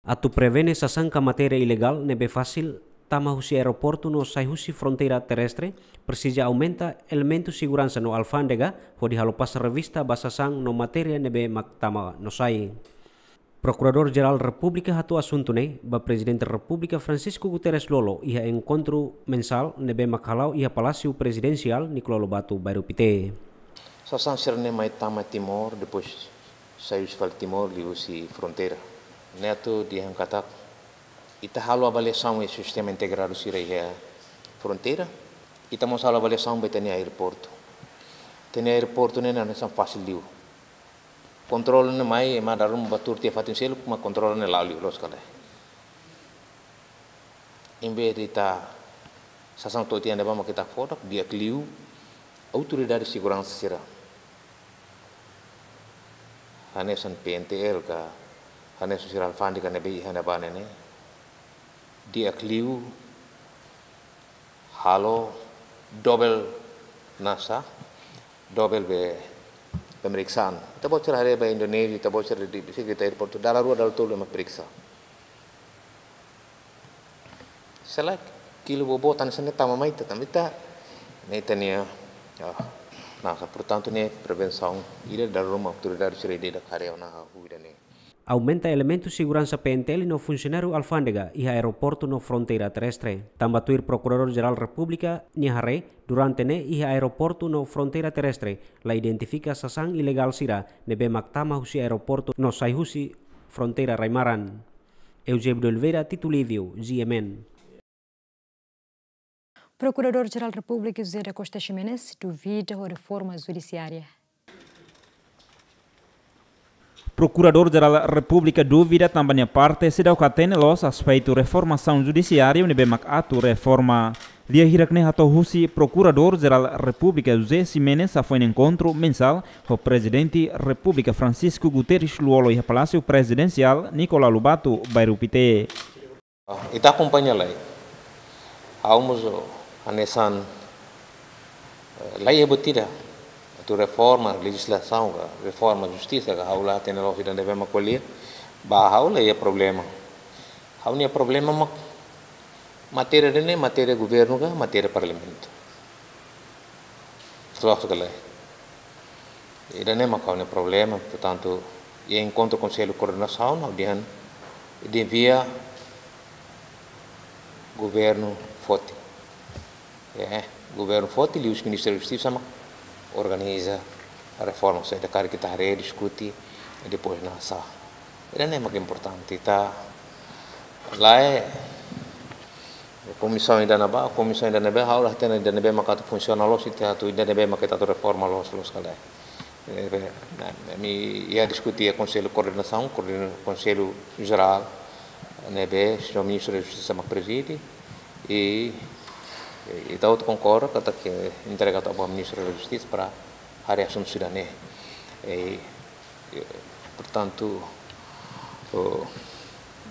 Atu prevene sasán ka matéria ilegál ne'ebé fasil tama husi aeroportu no sai husi fronteira terrestre, presiza aumenta elementu seguransa no alfándega hodi halo pasa revista ba sasán no matéria ne'ebé mak tama no sai. Prokuradór-Jerál Repúblika hato'o asuntu ne'e ba Prezidente Repúblika Francisco Guterres Lú-Olo iha enkontru mensál ne'ebé mak hala'o iha Palásiu Prezidensiál Nicolau Lobato, Bairru Pité. Sasán sira-ne'e mai tama Timor, depois sai husi fali Timor liuhusi fronteira. Ne'e atu dehan katak ita halo avaliasaun iha sistema integradu sira iha fronteira, ita mós halo avaliasaun ba ita-nia aeroportu. Ita-nia aeroportu ne'e hanesan fasil liu. Kontrolu ne'e mai, ema dala ruma bá tuur tiha fatin seluk, mak kontrolu ne'e la'o liu, loos ka lae. Em vez de ita sasán to'o tiha ne'ebá mak ita fó tok, di'ak liu autoridade seguransa sira, hanesan P N T L ka, hanesan sira alfándega ne'ebé iha ne'ebá ne'e, di'ak liu halo dobel nasa, dobel be pemeriksaan. Ita-boot sira haree ba Indonézia, ita-boot sira di, di, di aeroportu, dala rua, dala tolu ema periksa. Se lae, kilu boboot hanesan ne'e tama mai ita, tama ita. Ne'e ita-nia, ah, nah, portantu ne'e prevensaun ida dala ruma autoridade sira ida-idak haree ona hahú ida-ne'e. Aumenta elementu seguransa P N T L no funsionáriu alfándega iha aeroportu no fronteira terrestre. Tanba tuir Prokuradór Jerál Repúblika nia haree, durante ne'e iha aeroportu no fronteira terrestre la identifika sasán ilegál sira ne'ebé mak tama husi aeroportu no sai husi fronteira rai-maran. Eusébio de Oliveira, Tito Lívio, G M N. Prokuradór Jerál Repúblika José da Costa Ximenes duvida ho reforma judisiária. Prokuradór Jerál Repúblika duvida tanba nia parte seidauk hatene loos aspetu reformasaun judisiária ne'ebé mak atu reforma. Lia hirak-ne'e hato'o husi Prokuradór Jerál Repúblika José Ximenes hafoin enkontru mensál ho Prezidente Repúblika Francisco Guterres Lú-Olo iha Palásiu Prezidensiál Nicolau Lobato, bairru Pité. Ah, ita akompaña lai. Ha'u mós, oh, hanesan, eh, lai iha buat ida. Atu reforma lejizlasaun ka, reforma justisa ka, ha'u la hatene loos ida ne'ebé mak ko'alia. Ba ha'u la iha problema. Ha'u-nia problema mak matéria ida-ne'e, matéria governu ka, matéria parlamentu. Loos ka lae? Ida-ne'e mak ha'u-nia problema, portantu, iha enkontru Konsellu Koordenasaun, ha'u dehan, devia governu foti. Eh, governu foti, liuhusi Ministériu Justisa mak organiza reforma, saida karik ita haree, diskute, i depois nasa. Ida-ne'e mak importante, ita lae, komisaun ida-ne'ebá, komisaun ida-ne'ebé, ha'u la hatene ida-ne'ebé mak atu funsiona loos, ita atu ida-ne'ebé mak ita atu reforma loos, loos ka lae. Eh, ami iha diskute iha Konsellu Koordenasaun, koordena-, Konsellu Jerál, ne'ebé señór Ministru da Justisa mak prezide, i, i ita hotu konkorda katak entrega atu ba Ministru da Justisa para haree asuntu sira-ne'e. I, i, portantu, oh,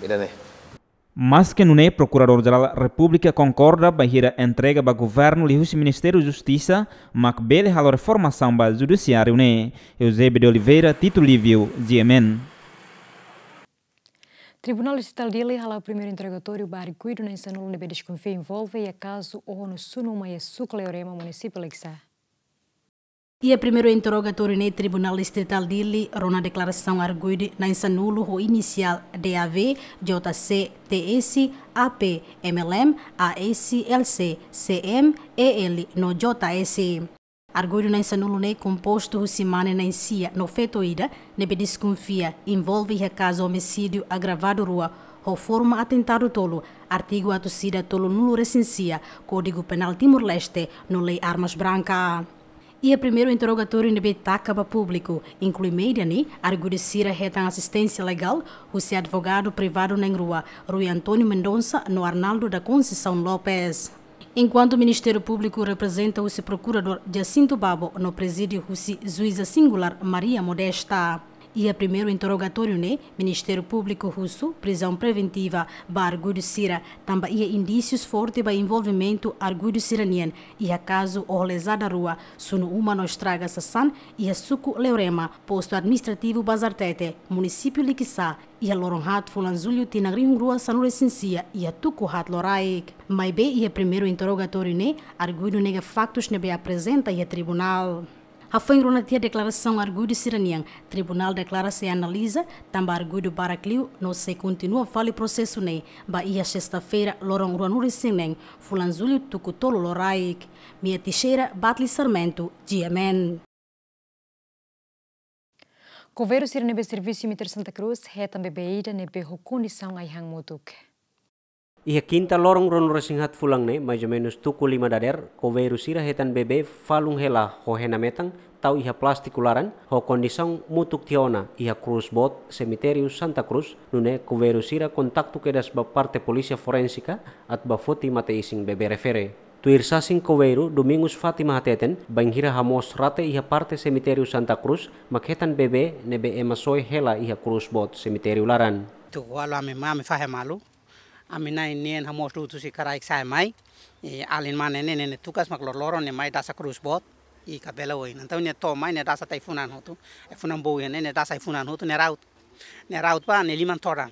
ida-ne'e. Maske nune'e, Prokuradór Jerál Repúblika konkorda bainhira entrega ba governu liuhusi Ministériu Justisa mak bele halo reformasaun ba judisiáriu ne'e. Eusébio de Oliveira, Tito Lívio, G M N. Tribunál Distritál Dili hala'o primeiru interrogatóriu ba arguidu na'in-sanulu ne'ebé deskonfia envolve iha kazu oho no sunu uma iha suku Leorema, munisípiu Likisá. Iha primeiru interrogatóriu ne'e Tribunál Distritál Dili rona deklarasaun arguidu na'in-sanulu ho inisiál D A V, J C, T S, A P, M L M, A S, L C, C M, E L no J S. Arguidu na'in-sanulu ne'e kompostu husi mane na'in-sia no feto ida ne'ebé deskonfia envolve iha kazu omisídiu agravadu rua ho forma atentadu tolu, artigu atus ida tolunulu-resin-sia, Kódigu Penál Timor-Leste no Lei Armas Branca. Iha primeiru interrogatóriu ne'ebé taka ba públiku, inklui média ne'e, arguidu sira hetan asisténsia legál husi advogadu privadu na'in-rua, Rui António Mendonça no Arnaldo da Conceição Lopes. Enkuantu Ministériu Públiku reprezenta husi Prokuradór Jacinto Babo no prezide husi Juíza Singulár Maria Modesta. Iha primeiru interrogatóriu ne'e, Ministériu Públiku husu prizaun preventiva ba arguidu sira tanba iha indísius forte ba envolvimentu arguidu sira-nian iha kazu oho lezada rua, sunu uma no estraga sasán iha suku Leorema, postu administrativu Bazartete, munisípiu Likisá, iha loron haat fulan Jullu tinan rihun rua sanulu-resin-sia iha tuku haat loraik. Maibé iha primeiru interrogatóriu ne'e, arguidu nega faktus ne'ebé aprezenta iha tribunál. Hafoin rona tiha deklarasaun arguidu sira-nian, tribunál deklara sei analiza tanba arguidu barak liu no sei kontinua fali prosesu ne'e ba iha sesta-feira, loron ruanulu-resin-neen, fulan Jullu, tuku tolu loraik. Mia Teixeira, Batli Sarmento, G M N. Koveiru sira ne'ebé servisu iha Mitér Santa Cruz hetan bebé ida ne'ebé ho kondisaun ai-han mutuk. Iha kinta, loron ruanulu-resin-haat fulan ne'e, mais ou menus tuku lima dadeer, koveiru sira hetan bebé falun hela ho hena metan tau iha plástiku laran, ho kondisaun mutuk tiha ona iha krús boot semitériu Santa Cruz, nune'e koveiru sira kontaktu kedas ba parte polísia forénsika atu ba foti mate-isin bebé refere. Tuir sasin koveiru Domingos Fátima hateten, bainhira hamoos rate iha parte semitériu Santa Cruz, mak hetan bebé ne'ebé ema soe hela iha krús boot semitériu laran. Tuku ualu ami mai, ami fahe malu. Ami na'in neen hamoos dutu husi karaik sa'e mai. I alin mane ne'e, ne'e tukas mak loroloron ne'e mai dasa krús boot. I kabela oin. Entaun ne'e to'o mai ne'e dasa tiha ai-funan hotu. Ai-funan boot ne'e, ne'e dasa ai-funan hotu, ne'e raut. Ne'e raut ba, ne'e liman todan.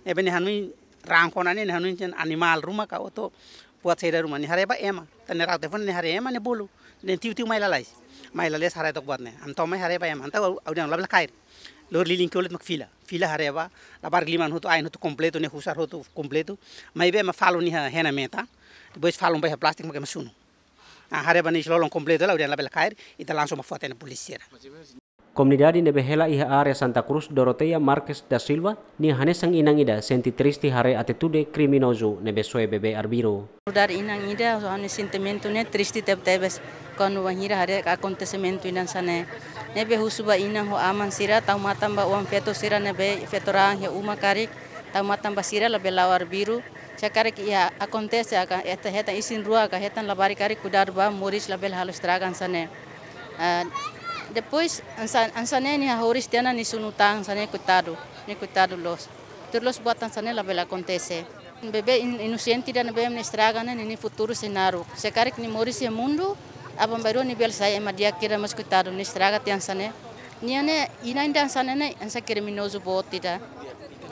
Ne'ebé ne'e hanoin Rangko ne'e, ne'e hanoin dehan animál ruma ka oto buat saida ruma, nia haree ba ema. Tan ne'e rau telefone, nia haree ema, nia bolu. Nia tiu-tiu mai lalais. Mai lalais haree took buat ne'e. Entaun mai haree ba ema. Entaun ha'u dehan labele kaer. Lori lilin ke olit mak fila. Fila haree ba, labarik liman hotu, ain hotu kompletu, nia husar hotu kompletu. Maibé ema falun nia hena meta. Depois falun ba iha plástiku mak ema sunu. Ah, haree ba nia isin-lolon kompletu, ha'u dehan labele kaer, ita langsung ba fó tiha ona polísia sira. Komunidade ne'ebé hela iha área Santa Cruz, Doroteia Marques da Silva, nia hanesan inan ida sente triste haree atitude kriminozu ne'ebé soe bebé arbiru. Nu'udar inan ida, ha'u-nia sentimentu ne'e triste tebetebes. Kuandu bainhira haree akontesimentu ida hanesan ne'e. Ne'ebé husu ba inan ho aman sira, tau matan ba oan-feto sira ne'ebé feto-raan iha uma karik, tau matan ba sira labele la'o arbiru. Se karik iha akontese ka, hetan, hetan isin-rua ka, hetan labarik karik, kuidadu ba moris, labele halo estraga hanesan ne'e. Ah, depois, hanesan, hanesan ne'e nia hahú tiha ona nia sunu tan hanesan ne'e, koitadu, nia koitadu loos. Tuir loos buat hanesan ne'e labele akontese. Bebé in-, inosente ida ne'ebé nia estraga ne'e, nia futuru sei naruk. Se karik nia moris iha mundu, aban-bainrua nia bele sai ema di'ak ida, mas koitadu, nia estraga tiha hanesan ne'e. Nia ne'e, inan ida hanesan ne'e, hanesan kriminozu boot ida.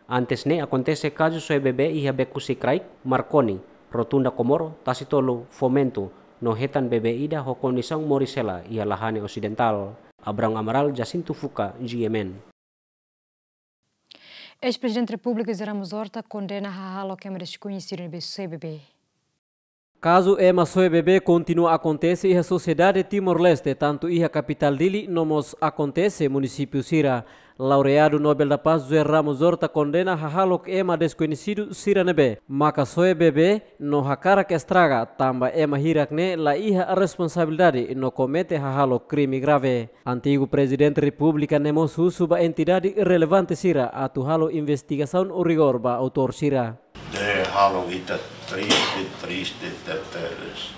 Antes ne'e akontese kazu soe bebé iha Beku-Sikraik, Marconi, Rotunda Comoro, Tasitolu, Fomento, no hetan bebé ida ho kondisaun moris hela iha Lahane Osidentál. Abrão Amaral, Jacinto Fuca, G M N. Eis-Prezidente Repúblika José Ramos Horta kondena hahalok ema deskoñesidu ne'ebé soe bebé. Kazu ema soe bebé kontinua akontese iha sosiedade Timor-Leste, tantu iha kapitál Dili no mós akontese munisípiu sira. Laureadu Nobel da Paz José Ramos Horta kondena hahalok ema deskoñesidu sira ne'ebé maka soe bebé no hakarak estraga, tanba ema hirak ne'e la iha responsabilidade no komete hahalok krime grave. Antigu Prezidente Repúblika ne'e mós husu ba entidade relevante sira atu halo investigasaun rigór ba autór sira. Ne'e halo ita triste, triste tebetebes.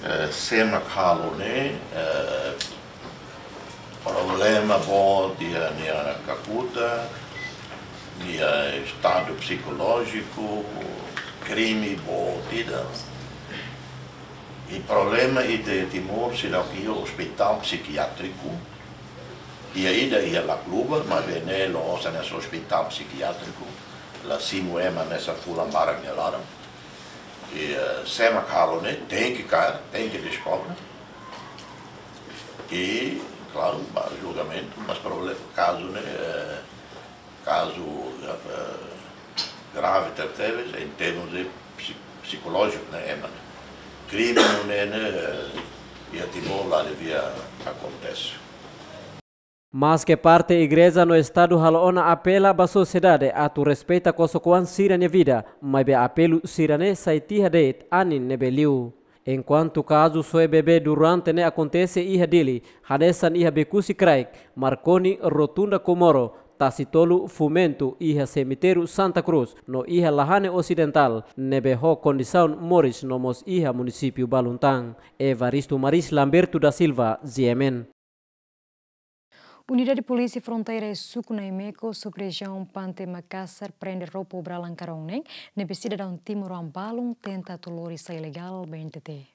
Eh, sé mak halo ne'e, eh, problema boot iha nia kakutak, nia estadu psikolójiku, krime boot ida. I problema ida iha Timor, seidauk iha ospitál psikiátriku, iha ida iha Lacluba, maibé ne'e la'ós hanesan ospitál psikiátriku, la simu ema hanesan fulan barak nia laran. I, eh, sé mak halo ne'e, tenke kaer, tenke deskobre. I, klaru, ba julgamentu, mas problema, kazu ne'e, eh, kazu, eh, grave tebetebes, em termos de psi-, psikolójiku, ne'e, ema ne'e. Krime ne'e, ne'e, eh, iha Timor la devia akontese. Maske parte igreja no estadu halo ona apela ba sosiedade atu respeita kosokoan sira-nia vida, maibé apelu sira-ne'e sai tiha de'it anin ne'ebé liu. Enkuantu kazu soe bebé durante ne'e akontese iha Dili, hanesan iha Beku-Sikraik, Marconi, Rotunda Comoro, Tasitolu, Fomento, iha semitériu Santa Cruz, no iha Lahane Osidentál, ne'ebé ho kondisaun moris no mós iha munisípiu balun tan. Evaristo Maris, Lamberto da Silva, G M N. Unidade Polísia Fronteira iha suku Naimeco, sub-rejiaun Pante Makasar, prende roupa obralan karong neen, ne'ebé sidadaun timoroan balun tenta atu lori sai ilegál ba N T T.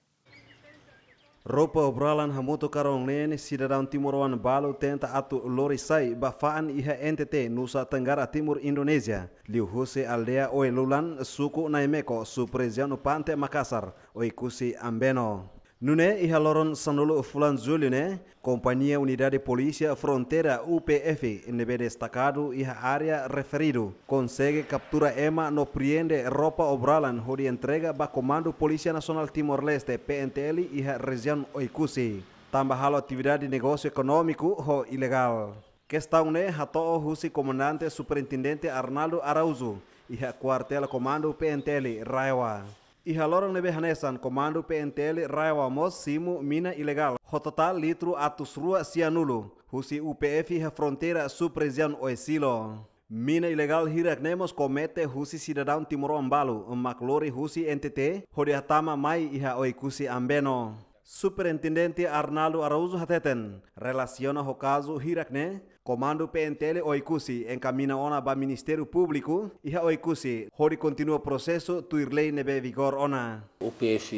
Roupa obralan hamutuk karong neen, sidadaun timoroan balun tenta atu lori sai ba fa'an iha N T T, Nusa Tenggara Timur, Indonézia, liuhusi aldeia Oelulan, suku Naimeco, sub-rejiaun Pante Makasar, Oekusi Ambeno. Nune'e iha loron sanulu fulan Jullu ne'e, kompañia Unidade Polísia Fronteira, U P F, ne'ebé destakadu iha área referidu, konsege kaptura ema no priende roupa obralan hodi entrega ba Komandu Polísia Nasionál Timor-Leste, P N T L, iha rejiaun Oekusi, tanba halo atividade negósiu ekonómiku ho ilegál. Kestaun ne'e hato'o husi Komandante Superintendente Arnaldo Araújo, iha Kuartél Komandu P N T L RAEOA. Iha loron ne'ebé hanesan, Komandu P N T L RAEOA mós simu mina ilegál ho totál litru atus rua sianulu, husi U P F iha fronteira sub-rejiaun Oesilo. Mina ilegál hirak ne'e mós komete husi sidadaun timoroan balu, mak lori husi N T T, hodi hatama mai iha Oekusi Ambeno. Superintendente Arnaldo Araújo hateten, relasiona ho kazu hirak ne'e, Komandu P N T L Oekusi enkamiña ona ba Ministériu Públiku iha Oekusi, hodi kontinua prosesu tuir lei ne'ebé vigór ona. U P F,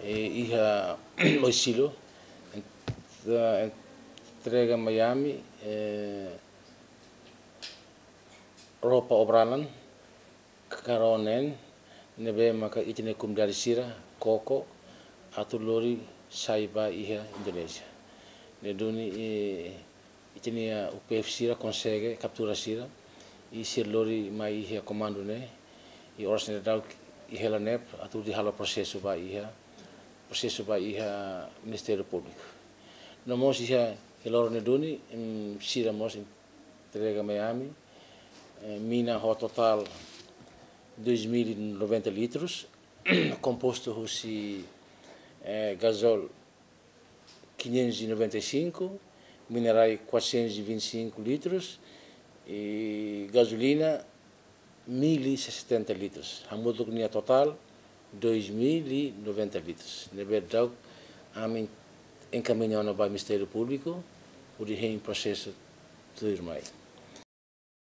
eh, iha Oesilo, ent-, entrega mai ami, eh, roupa obralan, karonen, ne'ebé maka ita-nia komunidade sira koko atu lori sai ba iha Indonézia. Ne'e duni, eh, ita-nia U P F sira konsege kaptura sira, i sira lori mai iha komandu ne'e, i oras ne'e daudaun iha hela ne'ebá atu hodi halo prosesu ba iha, prosesu ba iha Ministériu Públiku. No mós iha, iha loron ne'e duni, em, sira mós entrega mai ami, eh, mina ho totál dois mil e noventa litros, kompostu husi, eh, gazol quinhentos e noventa e cinco, minerais quatrocentos e vinte e cinco litros, i gazolina mil e setenta litros. Hamutuk nia totál dois mil e noventa litros. Ne'ebé daudaun ami enkamiña ona ba Ministériu Públiku, hodi hein prosesu tuirmai.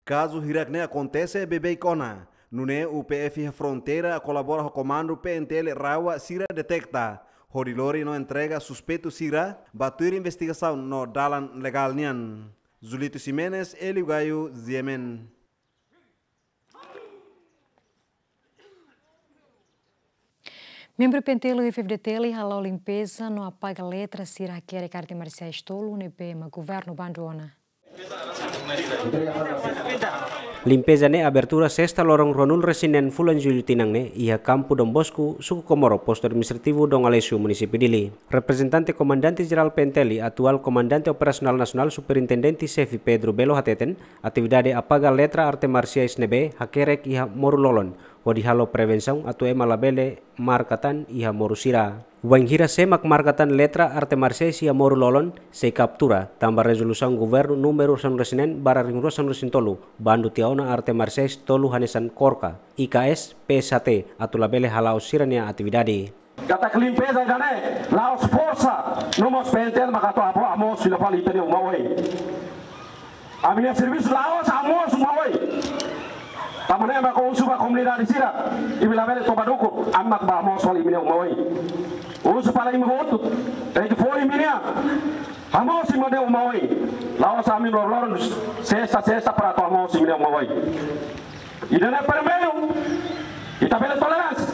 Kazu hirak-ne'e akontese beibeik ona, nune'e U P F iha fronteira kolabora ho komandu P N T L RAEOA sira detekta, hodi lori no entrega suspeitu sira ba tuir investigasaun no dalan legál nian. Julito Ximenes, Elio Gayo, G M N. Membru P N T L ho F F D T L hala'o limpeza no apaga letra sira hakerek arte marsiais tolu ne'ebé mak governu bandu ona. Limpeza ne'e abertura sesta loron ruanulu-resin-neen fulan Jullu tinan ne'e iha Kampu Don Bosco, Suku Comoro, Postu Administrativu Dom Aleixo, Munisípiu Dili. Reprezentante Komandante Jerál P N T L, atuál Komandante Operasionál Nasionál, Superintendente Xefe Pedro Belo hateten, atividade apaga letra arte marsiais ne'ebé hakerek iha moru-lolon, hodi halo prevensaun atu ema labele marka tan iha moru sira. Wainhira sé mak marka tan letra arte marsiais iha moru-lolon, sei kaptura, tanba rezolusaun governu númeru sanulu-resin-neen barra ringrua sanulu-resin-tolu, bandu tiha ona arte marsiais tolu hanesan KORKA, I K S, P S H T, atu labele hala'o sira-nia atividade. Katak limpeza ida-ne'e la'ós forsa, no mós P N T L maka atu hamoos fila fali ita-nia uma oin. Ami-nia servisu la'ós hamoos uma oin. Tanba ne'e mak husu ba komunidade sira, imi labele toba dukur, ami mak bá hamoos fali imi-nia uma oin. Husu fali imi hotu, rejista fó imi-nia, hamoos imi-nia uma oin. La'ós ami loron-loron, sesta, sesta para atu hamoos imi-nia uma oin. Ida-ne'e primeiru, ita bele toleránsia.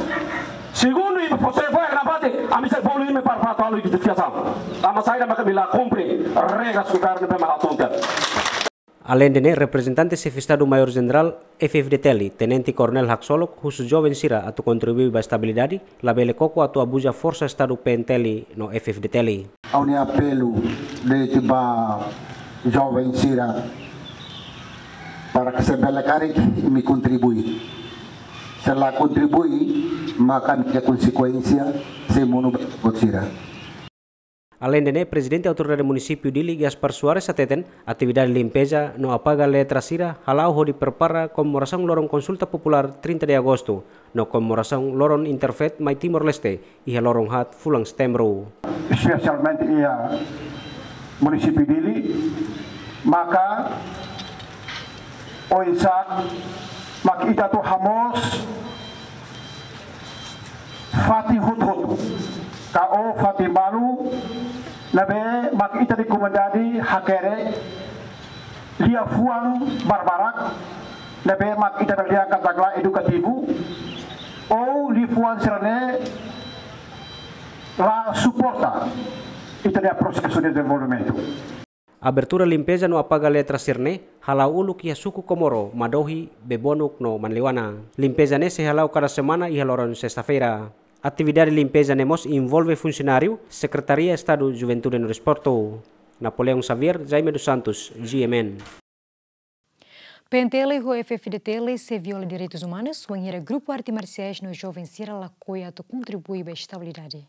Segundu, imi fó, se fó na bate, ami sei bolu imi para fato alu identifikasaun. Tanba saida mak imi la kumpre regras governu ne'ebé mak hatún tiha. Aleinde ne'e, reprezentante Xefe Estadu Maiór Jenerál F F D T L, Tenente Koronél Haksolok, husu joven sira atu kontribui ba estabilidade, labele koko atu abuza forsa Estadu P N T L no F F D T L. Ha'u-nia apelu de'it ba joven sira para ke se bele karik imi kontribui. Se la kontribui, maka nia konsekuénsia sei monu ba ita-boot sira. Aleinde ne'e, Prezidente Autoridade Munisípiu Dili, Gaspar Soares hateten, atividade limpeza no apaga letra sira hala'o hodi prepara komemorasaun loron konsulta populár trinta de agostu, no komemorasaun loron Interfaith mai Timor-Leste, iha loron haat fulan Setembru. Espesialmente iha Munisípiu Dili, maka oinsá mak ita atu hamoos fatin hotu-hotu, ka fatin balu, ne'ebé mak ita-nia komunidade hakerek liafuan barbarak, ne'ebé mak ita bele dehan katak la edukativu, ou liafuan sira-ne'e la suporta ita-nia prosesu dezenvolvimentu. Abertura limpeza no apaga letra sira-ne'e hala'o uluk iha Suku Comoro, Madohi, Bebonuk no Manleuana. Limpeza ne'e sei hala'o kada semana iha loron sesta-feira. Atividade limpeza ne'e mós envolve funsionáriu Sekretaria Estadu Juventude no Desportu. Napoleão Xavier, Jaime dos Santos, G M N. P N T L ho F F D T L sei viola direitus umanus, wainhira grupu arte marsiais no joven sira lakohi atu kontribui ba estabilidade.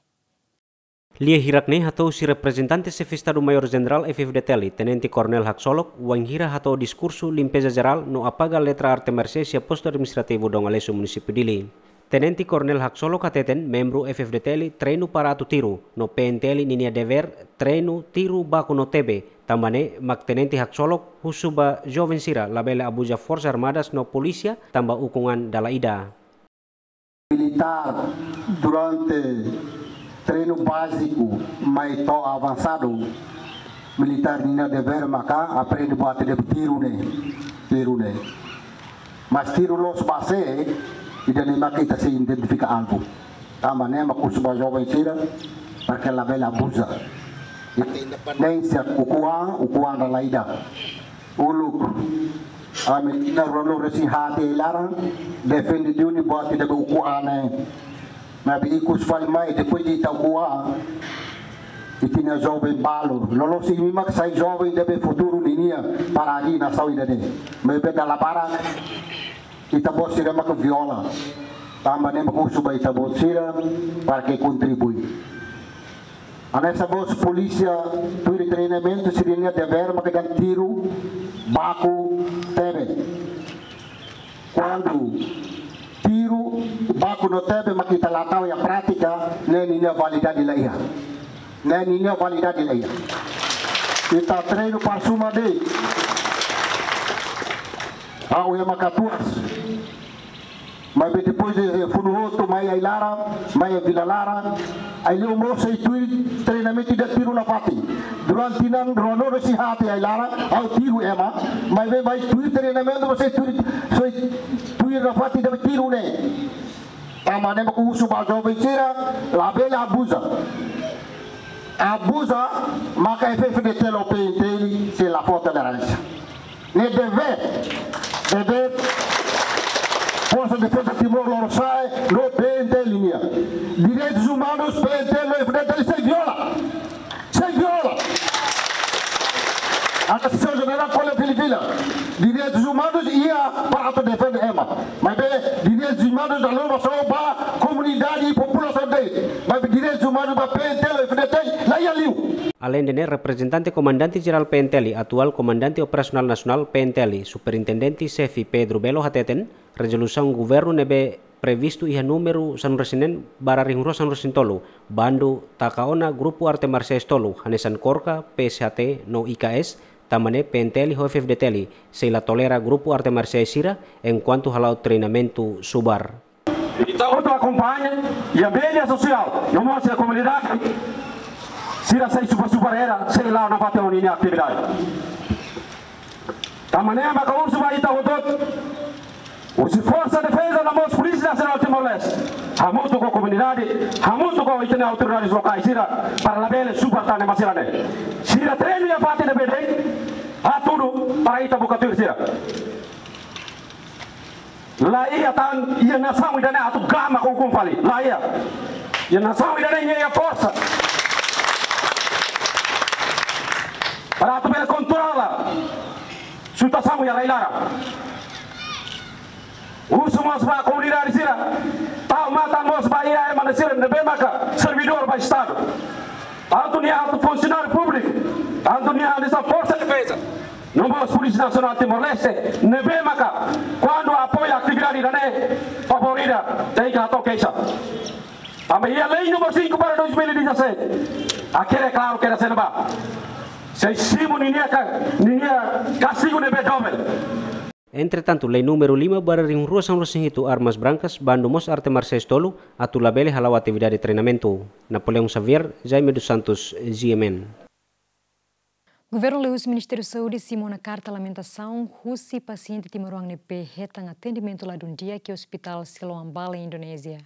Lia hirak-ne'e hato'o husi reprezentante Xefe Estadu Maiór Jenerál F F D T L, Tenente Koronél Haksolok, wainhira hato'o diskursu limpeza jerál no apaga letra arte marsiais iha Postu Administrativu Dom Aleixo, Munisípiu Dili. Tenente Koronél Haksolok hateten membru F F D T L treinu para atu tiru, no P N T L ninia devér treinu tiru baku no tebe, tanba ne'e mak Tenente Haksolok husu ba joven sira labele abuza Forsas Armadas no polísia tanba ukun an dala ida. Militár durante treinu báziku mai to'o avansadu, militár ninia devér maka aprende buat ida tiru ne'e, tiru ne'e. Mas tiru loos ba sé, Ida-ne'e mak ita sei identifika alvu. Tanba ne'e mak husu ba joven sira, para ke labele abuza. Independénsia ukun-an, ukun-an dala ida. Uluk, ami tinan ruanulu-resin-haat iha laran, defende duni buat ida be ukun-an ne'e. Maibé ikus fali mai, depois de ita ukun-an, ita-nia joven balu. Loloos imi mak sai joven ida be futuru ninia para harii nasaun ida-ne'e. Maibé dala barak, ita-boot sira mak viola. Tanba ne'e mak husu ba ita-boot sira, para ke kontribui. Hanesan mós polísia tuir treinamentu sira-nia devér mak dehan tiru, baku, tebe. Kuandu tiru, baku no tebe mak ita la tau iha prátika, ne'e ninia validade la iha. Ne'e ninia validade la iha. Ita treinu para suma de'it. Ha'u ema katuas. Maibé depois de funu hotu, mai ai-laran, mai ai-vila laran, ai-liu mós sei tuir treinamentu ida tiru nafatin. Durante tinan ruanulu-resin-haat iha ai-laran, ha'u tiru ema, maibé mai tuir treinamentu, sei tuir, sei tuir nafatin ida be tiru ne'e. Tanba ne'e mak husu ba joven sira, labele abuza. Abuza, maka F-FDTL ou P N T L sei la fó toleránsia. Ne'e devér, devér Forsa Defeza Timor Lorosa'e no P N T L nian. Direitus umanus P N T L no F-FDTL sei viola. Sei viola. Ata señór Jenerál Kole Filifila. Direitus umanus iha para atu defende ema. Maibé direitus umanus dala ruma só ba komunidade i populasaun de'it. Maibé direitus umanus ba P N T L no F-FDTL la iha liu. Aleinde ne'e, reprezentante Komandante Jerál P N T L, atuál Komandante Operasionál Nasionál P N T L, Superintendente Xefe Pedro Belo hateten, rezolusaun governu ne'ebé previstu iha númeru sanulu-resin-neen barra rihun rua sanulu-resin-tolu, bandu taka ona grupu arte marsiais tolu, hanesan KORKA, P S H T, no I K S, tanba ne'e P N T L ho F-FDTL sei la tolera grupu arte marsiais sira, enkuantu hala'o treinamentu subar. Ita hotu akompaña iha média sosiál, no mós iha komunidade, sira sei subar-subar hela, sei la'o nafatin ho ninia atividade. Tanba ne'e maka husu ba ita hotu-hotu, husi Forsa Defeza no mós Polísia Nasionál Timor-Leste, hamutuk ho komunidade, hamutuk ho ita-nia autoridades lokais sira, para labele subar tan ema sira-ne'e. Sira treinu iha fatin ne'ebé de'it, hatudu para ita buka tuir sira. La iha tan iha nasaun ida-ne'e atu gama ho ukun fali. La iha. Iha nasaun ida-ne'e nia iha forsa para atu bele kontrola situasaun iha rai-laran. Husu mós ba komunidade sira, tau matan mós ba iha ema sira ne'ebé maka servidór ba Estadu. Tantu nia atu funsionáriu públiku, tantu nia atu Forsa Defeza, no mós Polísia Nasionál Timor-Leste, ne'ebé maka kuandu apoia atividade ida-ne'e, favór ida tenke hato'o keixa. Tanba iha Lei númeru cinco barra dois mil e dezassete, hakerek klaru katak sei ba, sei simu ninia ka-, ninia kastigu ne'ebé dobel. Entretantu, Lei númeru lima barra rihun rua sanulu-resin-hitu, armas brancas, bandu mós arte marsiais tolu, atu labele hala'o atividade treinamentu. Napoleão Xavier, Jaime dos Santos, G M N. Governu liuhusi Ministériu Saúde simu ona karta lamentasaun husi pasiente timoroan ne'ebé hetan atendimentu ladún di'ak iha Ospitál Siloam Bali, Indonézia.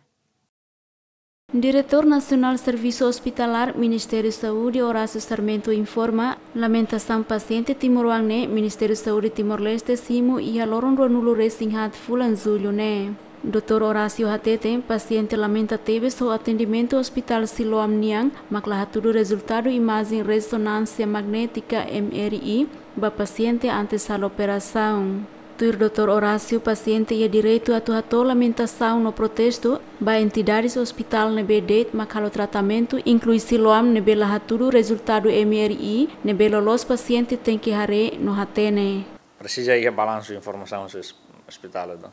Diretór Nasionál Servisu Ospitalár Ministériu Saúde, Horácio Sarmento, informa lamentasaun pasiente timoroan ne'e Ministériu Saúde Timor-Leste simu iha loron ruanulu-resin-haat fulan Jullu ne'e. Doutór Horácio hateten, pasiente lamenta tebes ho atendimentu Ospitál Siloam nian, mak la hatudu rezultadu imajen rezonánsia magnétika, M R I, ba pasiente antes halo operasaun. Tuir Doutór Horácio, pasiente iha direitu atu hato'o lamentasaun no protestu ba entidades ospitál ne'ebé de'it mak halo tratamentu, inklui Siloam ne'ebé la hatudu rezultadu M R I, ne'ebé loloos pasiente tenke haree no hatene. Presiza iha balansu informasaun husi ospitál ida.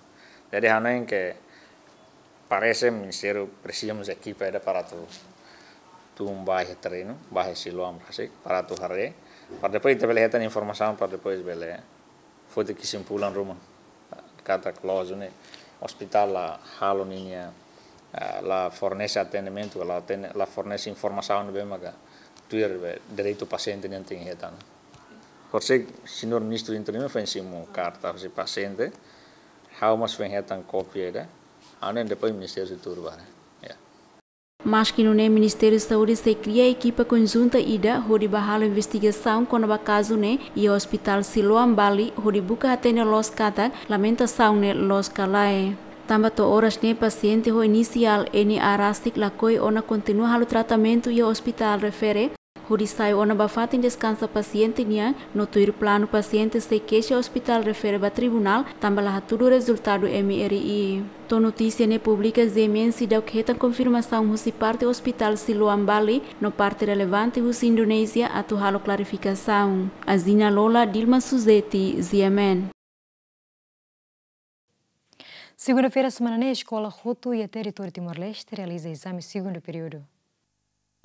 Jadi, hanoin ke parese ministériu presiza mós ekipa ida para atu tun ba iha terrenu, ba iha Siloam rasik, para atu haree, para depois ita bele hetan informasaun, para depois bele foti kesimpulan ruma. Katak loos ne'e, ospitál la halo ninia, ah, la fornese atendimentu, la atende, la fornese informasaun ne'ebé maka tuir be direitu pasiente nian tenke hetan. Horisehik señór Ministru Interinu foin simu karta husi pasiente, ha'u mós foin hetan kópia ida. Ha'u hanoin depois Ministériu sei tuur ba ne'e. Ya. Maski nune'e, Ministériu Saúde sei kria ekipa konjunta ida hodi bá halo investigasaun kona-ba kazu ne'e iha Hospitál Siloam Bali hodi buka hatene loos katak lamentasaun ne'e loos ka lae. Tanba to'o oras ne'e pasiente ho inisiál N A rasik lakohi ona kontinua halo tratamentu iha ospitál refere, hodi sai ona ba fatin deskansa pasiente nian, no tuir planu pasiente sei keixa ospitál refere ba tribunál, tanba la hatudu rezultadu M R I. To'o notísia ne'e publika, G M N seidauk hetan konfirmasaun husi parte Ospitál Siloam Bali, no parte relevante husi Indonézia atu halo klarifikasaun. Azina Lola, Dilma Suzeti, G M N. Segunda-feira semana ne'e, eskola hotu iha territóriu Timor-Leste realiza ezame segundu períodu.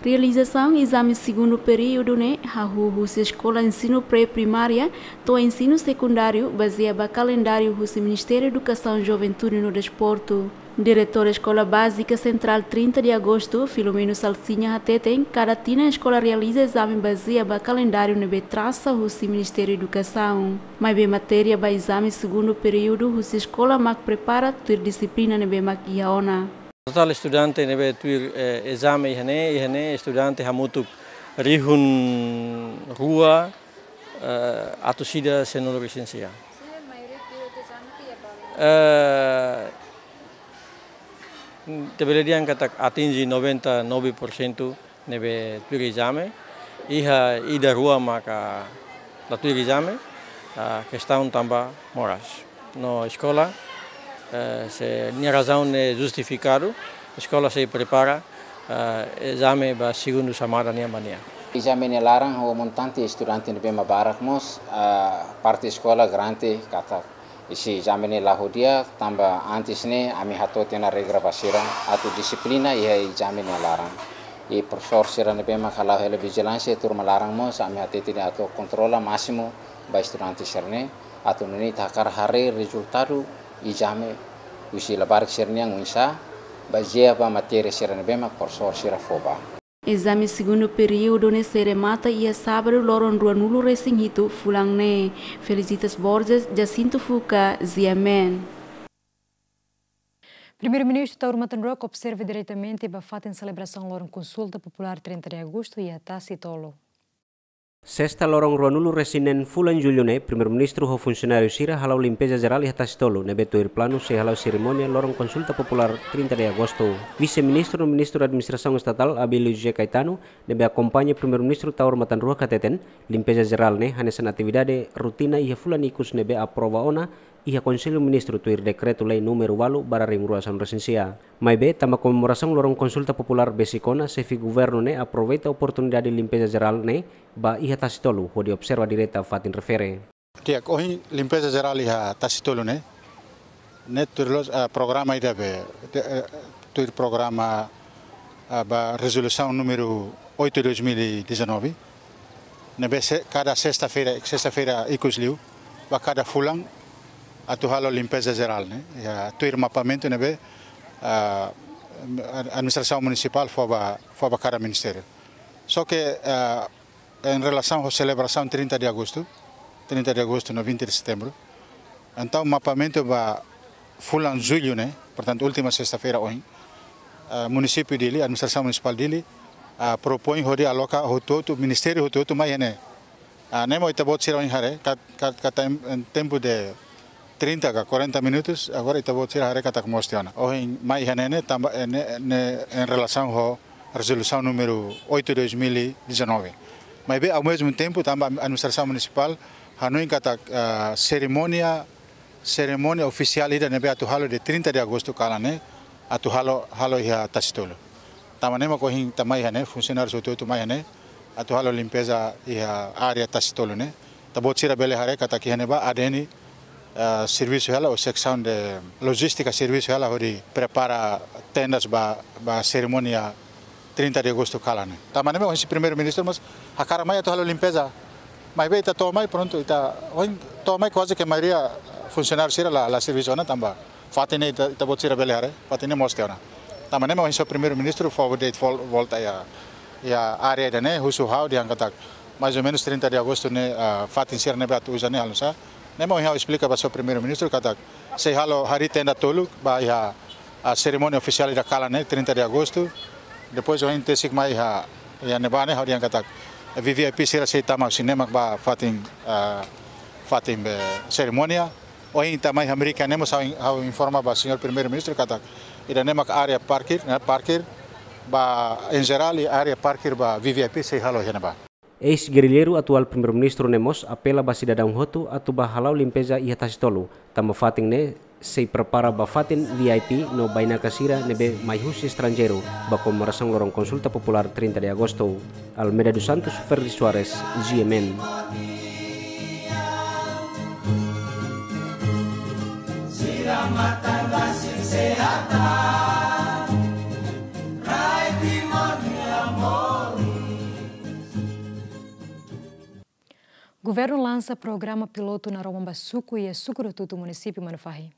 Realizasaun ezame segundu períodu ne'e hahú husi eskola ensinu pré-primária to'o ensinu sekundáriu, bazeia ba kalendáriu husi Ministériu Edukasaun, Juventude no Desportu. Diretór Eskola Bázika Sentrál Trinta de Agosto, Filomeno Salsinha, hateten kada tinan eskola realiza ezame bazeia ba kalendáriu ne'ebé trasa husi Ministériu Edukasaun. Maibé matéria ba ezame segundu períodu husi eskola mak prepara tuir dixiplina ne'ebé mak iha ona. Totál estudante ne'ebé tuir, eh, ezame iha ne'e, iha ne'e estudante hamutuk rihun rua, eh, atus ida sianulu resin sia. Eh, ita bele dehan katak atinje noventa e nove por cento ne'ebé tuir ezame, iha ida rua maka la tuir ezame, ah, kestaun tanba moras. No eskola, eh, se nia razaun ne'e justifikadu, eskola sei prepara, eh, ezame ba segundu xamada nian ba nia. Ezame nia laran ho montante estudante ne'ebé mak barak mós, ah, parte eskola garante katak isi ezame ne'e la'o di'ak, tanba antes ne'e ami hato'o tiha ona regra ba sira atu dixiplina iha ezame nia laran. I profesór sira ne'ebé mak hala'o hela vijilánsia turma laran mós ami hatete atu kontrola másimu ba estudante sira-ne'e, atu nune'e ita hakarak haree rezultadu ezame husi labarik sira-nian oinsá, bazeia ba matéria sira ne'ebé mak profesór sira fó ba. Ezame segundu períodu ne'e sei remata iha sábadu loron ruanulu resin hitu fulan ne'e. Felicitas Borges, Jacinto Fuca, G M N. Primeiru-Ministru Taur Matan Ruak observa diretamente ba fatin selebrasaun loron konsulta populár trinta de agostu iha Tasitolu. Sesta loron ruanulu resin neen fulan Jullu ne'e, Primeiru-Ministru ho funsionáriu sira hala'o limpeza jerál iha Tasitolu, ne'ebé tuir planu sei hala'o serimónia loron konsulta populár trinta de agostu. Vise-Ministru no Ministru Administrasaun Estatál, Abílio José Caetano, ne'ebé akompaña Primeiru-Ministru Taur Matan Ruak hateten, limpeza jerál ne'e hanesan atividade rutina iha fulan ikus ne'ebé aprova ona iha Konsellu Ministru tuir Dekretu-Lei númeru ualu barra rihun rua sanulu resin sia. Maibé, tanba komemorasaun loron konsulta populár besik ona, Xefe Governu ne'e aproveita oportunidade limpeza jerál ne'e ba iha Tasitolu, hodi observa direta fatin refere. Di'ak, ohin limpeza jerál iha Tasitolu ne'e, ne'e tuir loos, ah, programa ida be, de, eh, tuir programa, ah, ba rezolusaun númeru oito dois mil e dezanove, ne'ebé se-, kada sesta-feira, sesta-feira ikus liu, ba kada fulan, atu halo limpeza jerál ne'e, iha tuir mapamentu ne'ebé, ah, administrasaun munisipál fó ba, fó ba kada ministériu. Só ke, ah, em relação à celebração trinta de agosto, trinta de agosto no vinte de setembro. Entaun, mapamentu ba fulan Jullu ne'e, portantu, última sesta-feira ohin, ah, munisípiu Dili, administrasaun munisipál Dili, ah, propoin hodi aloka hotu-hotu, ministériu hotu-hotu mai iha ne'e. Ah, ne'e mak ita-boot sira ohin haree, ka, ka, ka tem-, em tempo de trinta ka quarenta minutos, agora ita-boot sira haree katak moos tiha ona. Ohin mai iha ne'e ne'e tanba, eh, ne'e, ne'e em relação ho rezolusaun númeru oito dois mil e dezanove. Maibé, ao mesmo tempo, tanba administrasaun munisipál hanoin katak, ah, serimónia, serimónia ofisiál ida ne'ebé atu halo iha trinta de agosto kalan ne'e, atu halo, halo iha Tasitolu. Tanba ne'e mak ohin ita mai iha ne'e, funsionáriu hotu-hotu mai iha ne'e, atu halo limpeza iha área Tasitolu ne'e. Ita-boot sira bele haree katak iha ne'ebá A D N, ah, servisu hela, ou seksaun de lojístika servisu hela hodi prepara tendas ba, ba serimónia trinta de agosto kalan ne'e. Tanba ne'e mak ohin Primeiru-Ministru mós hakarak mai atu halo limpeza. Maibé ita to'o mai, prontu, ita ohin to'o mai kuaze ke maioria funsionáriu sira la, la servisu ona tanba fatin ne'e ita, ita-boot sira bele haree, fatin ne'e moos tiha ona. Tanba ne'e mak ohin Primeiru-Ministru fó de'it vol-, volta iha, iha área ida ne'e, husu ha'u dehan katak mais ou menus trinta de agosto ne'e, ah, fatin sira ne'ebé atu uza ne'e halo nu'usá. Ne'e mak ohin ha'u esplika ba Primeiru-Ministru katak sei halo harii tenda tolu ba iha A serimónia ofisiál ida kalan ne'e, trinta de agosto. Depois ohin tesik mai iha, iha ne'ebá ne'e, ha'u dehan katak V V I P sira sei tama husi ne'e mak ba fatin, ah, fatin be serimónia. Ohin ita mai iha Merika ne'e mós ha'u in-, ha'u informa ba señór Primeiru-Ministru katak ida-ne'e mak área parkir, ne'e, parkir ba, em geral, área parkir ba V V I P sei halo iha ne'ebá. Eis-gerrilleiru atuál Primeiru-Ministru ne'e mós apela ba sidadaun hotu atu bá hala'o limpeza iha Tasi Tolu, tanba fatin ne'e sei prepara ba fatin V I P no bainaka sira ne'ebé mai husi estranjeiru ba komemorasaun loron konsulta populár trinta de agosto. Almeida dos Santos, Ferdi Soares, G M N. Governu lansa programa pilotu naroman ba suku iha suku Rotutu, munisípiu Manufahi.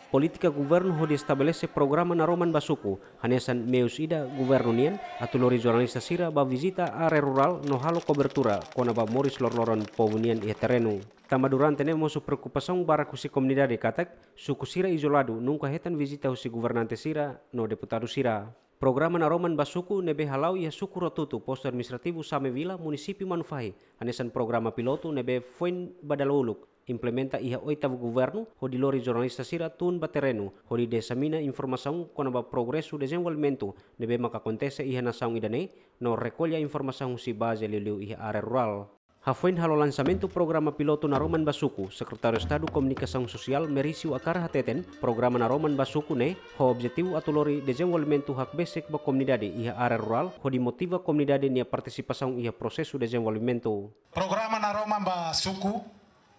Polítika governu hodi estabelese programa naroman ba suku, hanesan meius ida governu nian atu lori jornalista sira bá vizita área rurál no halo kobertura kona-ba moris loroloron povu nian iha terrenu. Tanba durante ne'e mosu preokupasaun barak husi komunidade katak suku sira izoladu nunka hetan vizita husi governante sira no deputadu sira. Programa naroman ba suku ne'ebé hala'o iha suku Rotutu, postu administrativu Same Vila, munisípiu Manufahi, hanesan programa pilotu ne'ebé foin ba dala uluk implementa iha oitavu governu, hodi lori jornalista sira tun ba terrenu hodi disemina informasaun kona-ba progresu dezenvolvimentu ne'ebé maka akontese iha nasaun ida-ne'e, no rekolla informasaun husi baze liuliu iha área rurál. Hafoin halo lansamentu programa pilotu naroman ba suku, Sekretáriu Estadu Komunikasaun Sosiál Merisio Akar hateten, programa naroman ba suku ne'e ho objetivu atu lori dezenvolvimentu hakbesik ba komunidade iha área rurál, hodi motiva komunidade nia partisipasaun iha prosesu dezenvolvimentu. Programa naroman ba suku,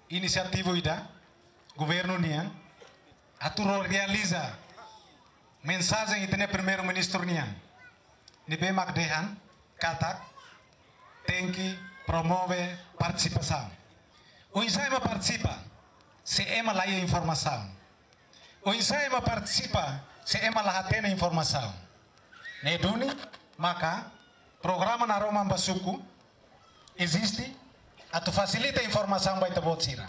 inisiativu ida governu nian atu realiza mensajen ita-nia Primeiru-Ministru nian, ne'ebé mak dehan katak tenke promove partisipasaun. Oinsá ema partisipa se ema la iha informasaun? Oinsá ema partisipa se ema la hatene informasaun? Ne'e duni maka programa naroman ba suku eziste atu fasilita informasaun ba ita-boot sira,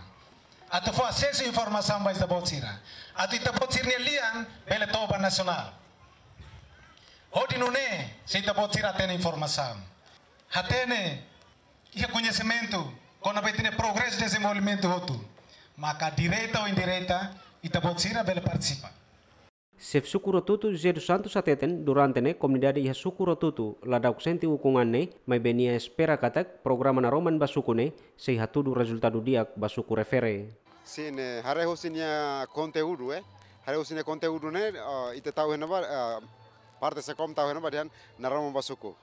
atu fó asesu informasaun ba ita-boot sira, atu ita-boot sira-nia lian bele to'o ba nasionál. Hodi nune'e, se ita-boot sira hatene informasaun, hatene, iha koñesimentu kona-ba ita-nia progresu dezenvolvimentu hotu, maka direta ou indireta ita-boot sira bele partisipa. Xefe suku Rotutu, José dos Santos hateten, durante ne'e komunidade iha suku Rotutu ladauk sente ukun an ne'e, maibé nia espera katak programa naroman ba suku ne'e sei hatudu rezultadu di'ak ba suku refere. Sin, eh, haree husi nia konteúdu, eh. Haree husi nia konteúdu ne'e, eh, ita tau iha ne'ebá, eh, parte SEKOM tau iha ne'ebá dehan naroman ba suku.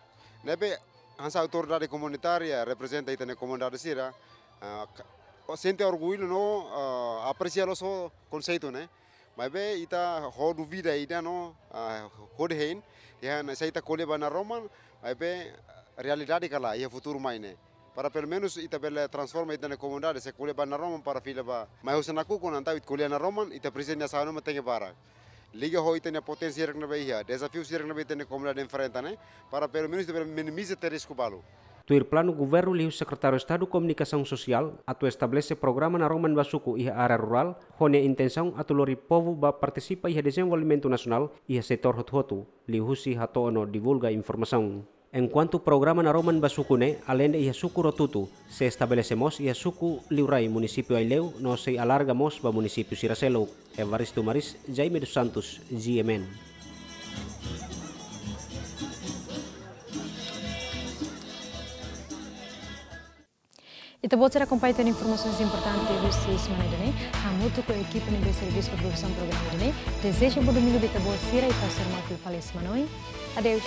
Ne'ebé hanesan autoridade komunitária reprezenta ita-nia komunidade sira, eh, ka-, o sente orgullu no, eh, apresia loos ho konseitu ne'e. Maibé ita ho dúvida ida no, ah, hodi hein, iha ne'e se ita ko'alia ba naroman, maibé realidade ka lae iha futuru mai ne'e. Para pelumenus ita bele transforma ita-nia komunidade, se ko'alia ba naroman para fila ba mai husi nakukun, entaun ita ko'alia naroman, ita presiza nia asaun ne'e mak tenke barak. Liga ho ita-nia poténsia hirak ne'ebé iha, dezafiu hirak ne'ebé ita-nia komunidade enfrenta ne'e, para pelumenus ita bele minimiza tiha risku balu. Tuir planu governu liuhusi Sekretáriu Estadu Komunikasaun Sosiál atu estabelese programa naroman ba suku iha área rurál, ho nia intensaun atu lori povu bá partisipa iha dezenvolvimentu nasionál iha setór hotu-hotu, liuhusi hato'o no divulga informasaun. Enkuantu programa naroman ba suku ne'e, aleinde iha suku Rotutu, sei estabelese mós iha suku Liurai, munisípiu Aileu, no sei alarga mós ba munisípiu sira seluk. Evaristo Maris, Jaime dos Santos, G M N. Ita-boot sira akompaña tan informasaun importante husi semana ida-ne'e. Hamutuk ho ekipa ne'ebé servisu ba produsaun programa ida-ne'e, dezeja bom domingu ba ita-boot sira i pasa normal fali semana oin. Adeus.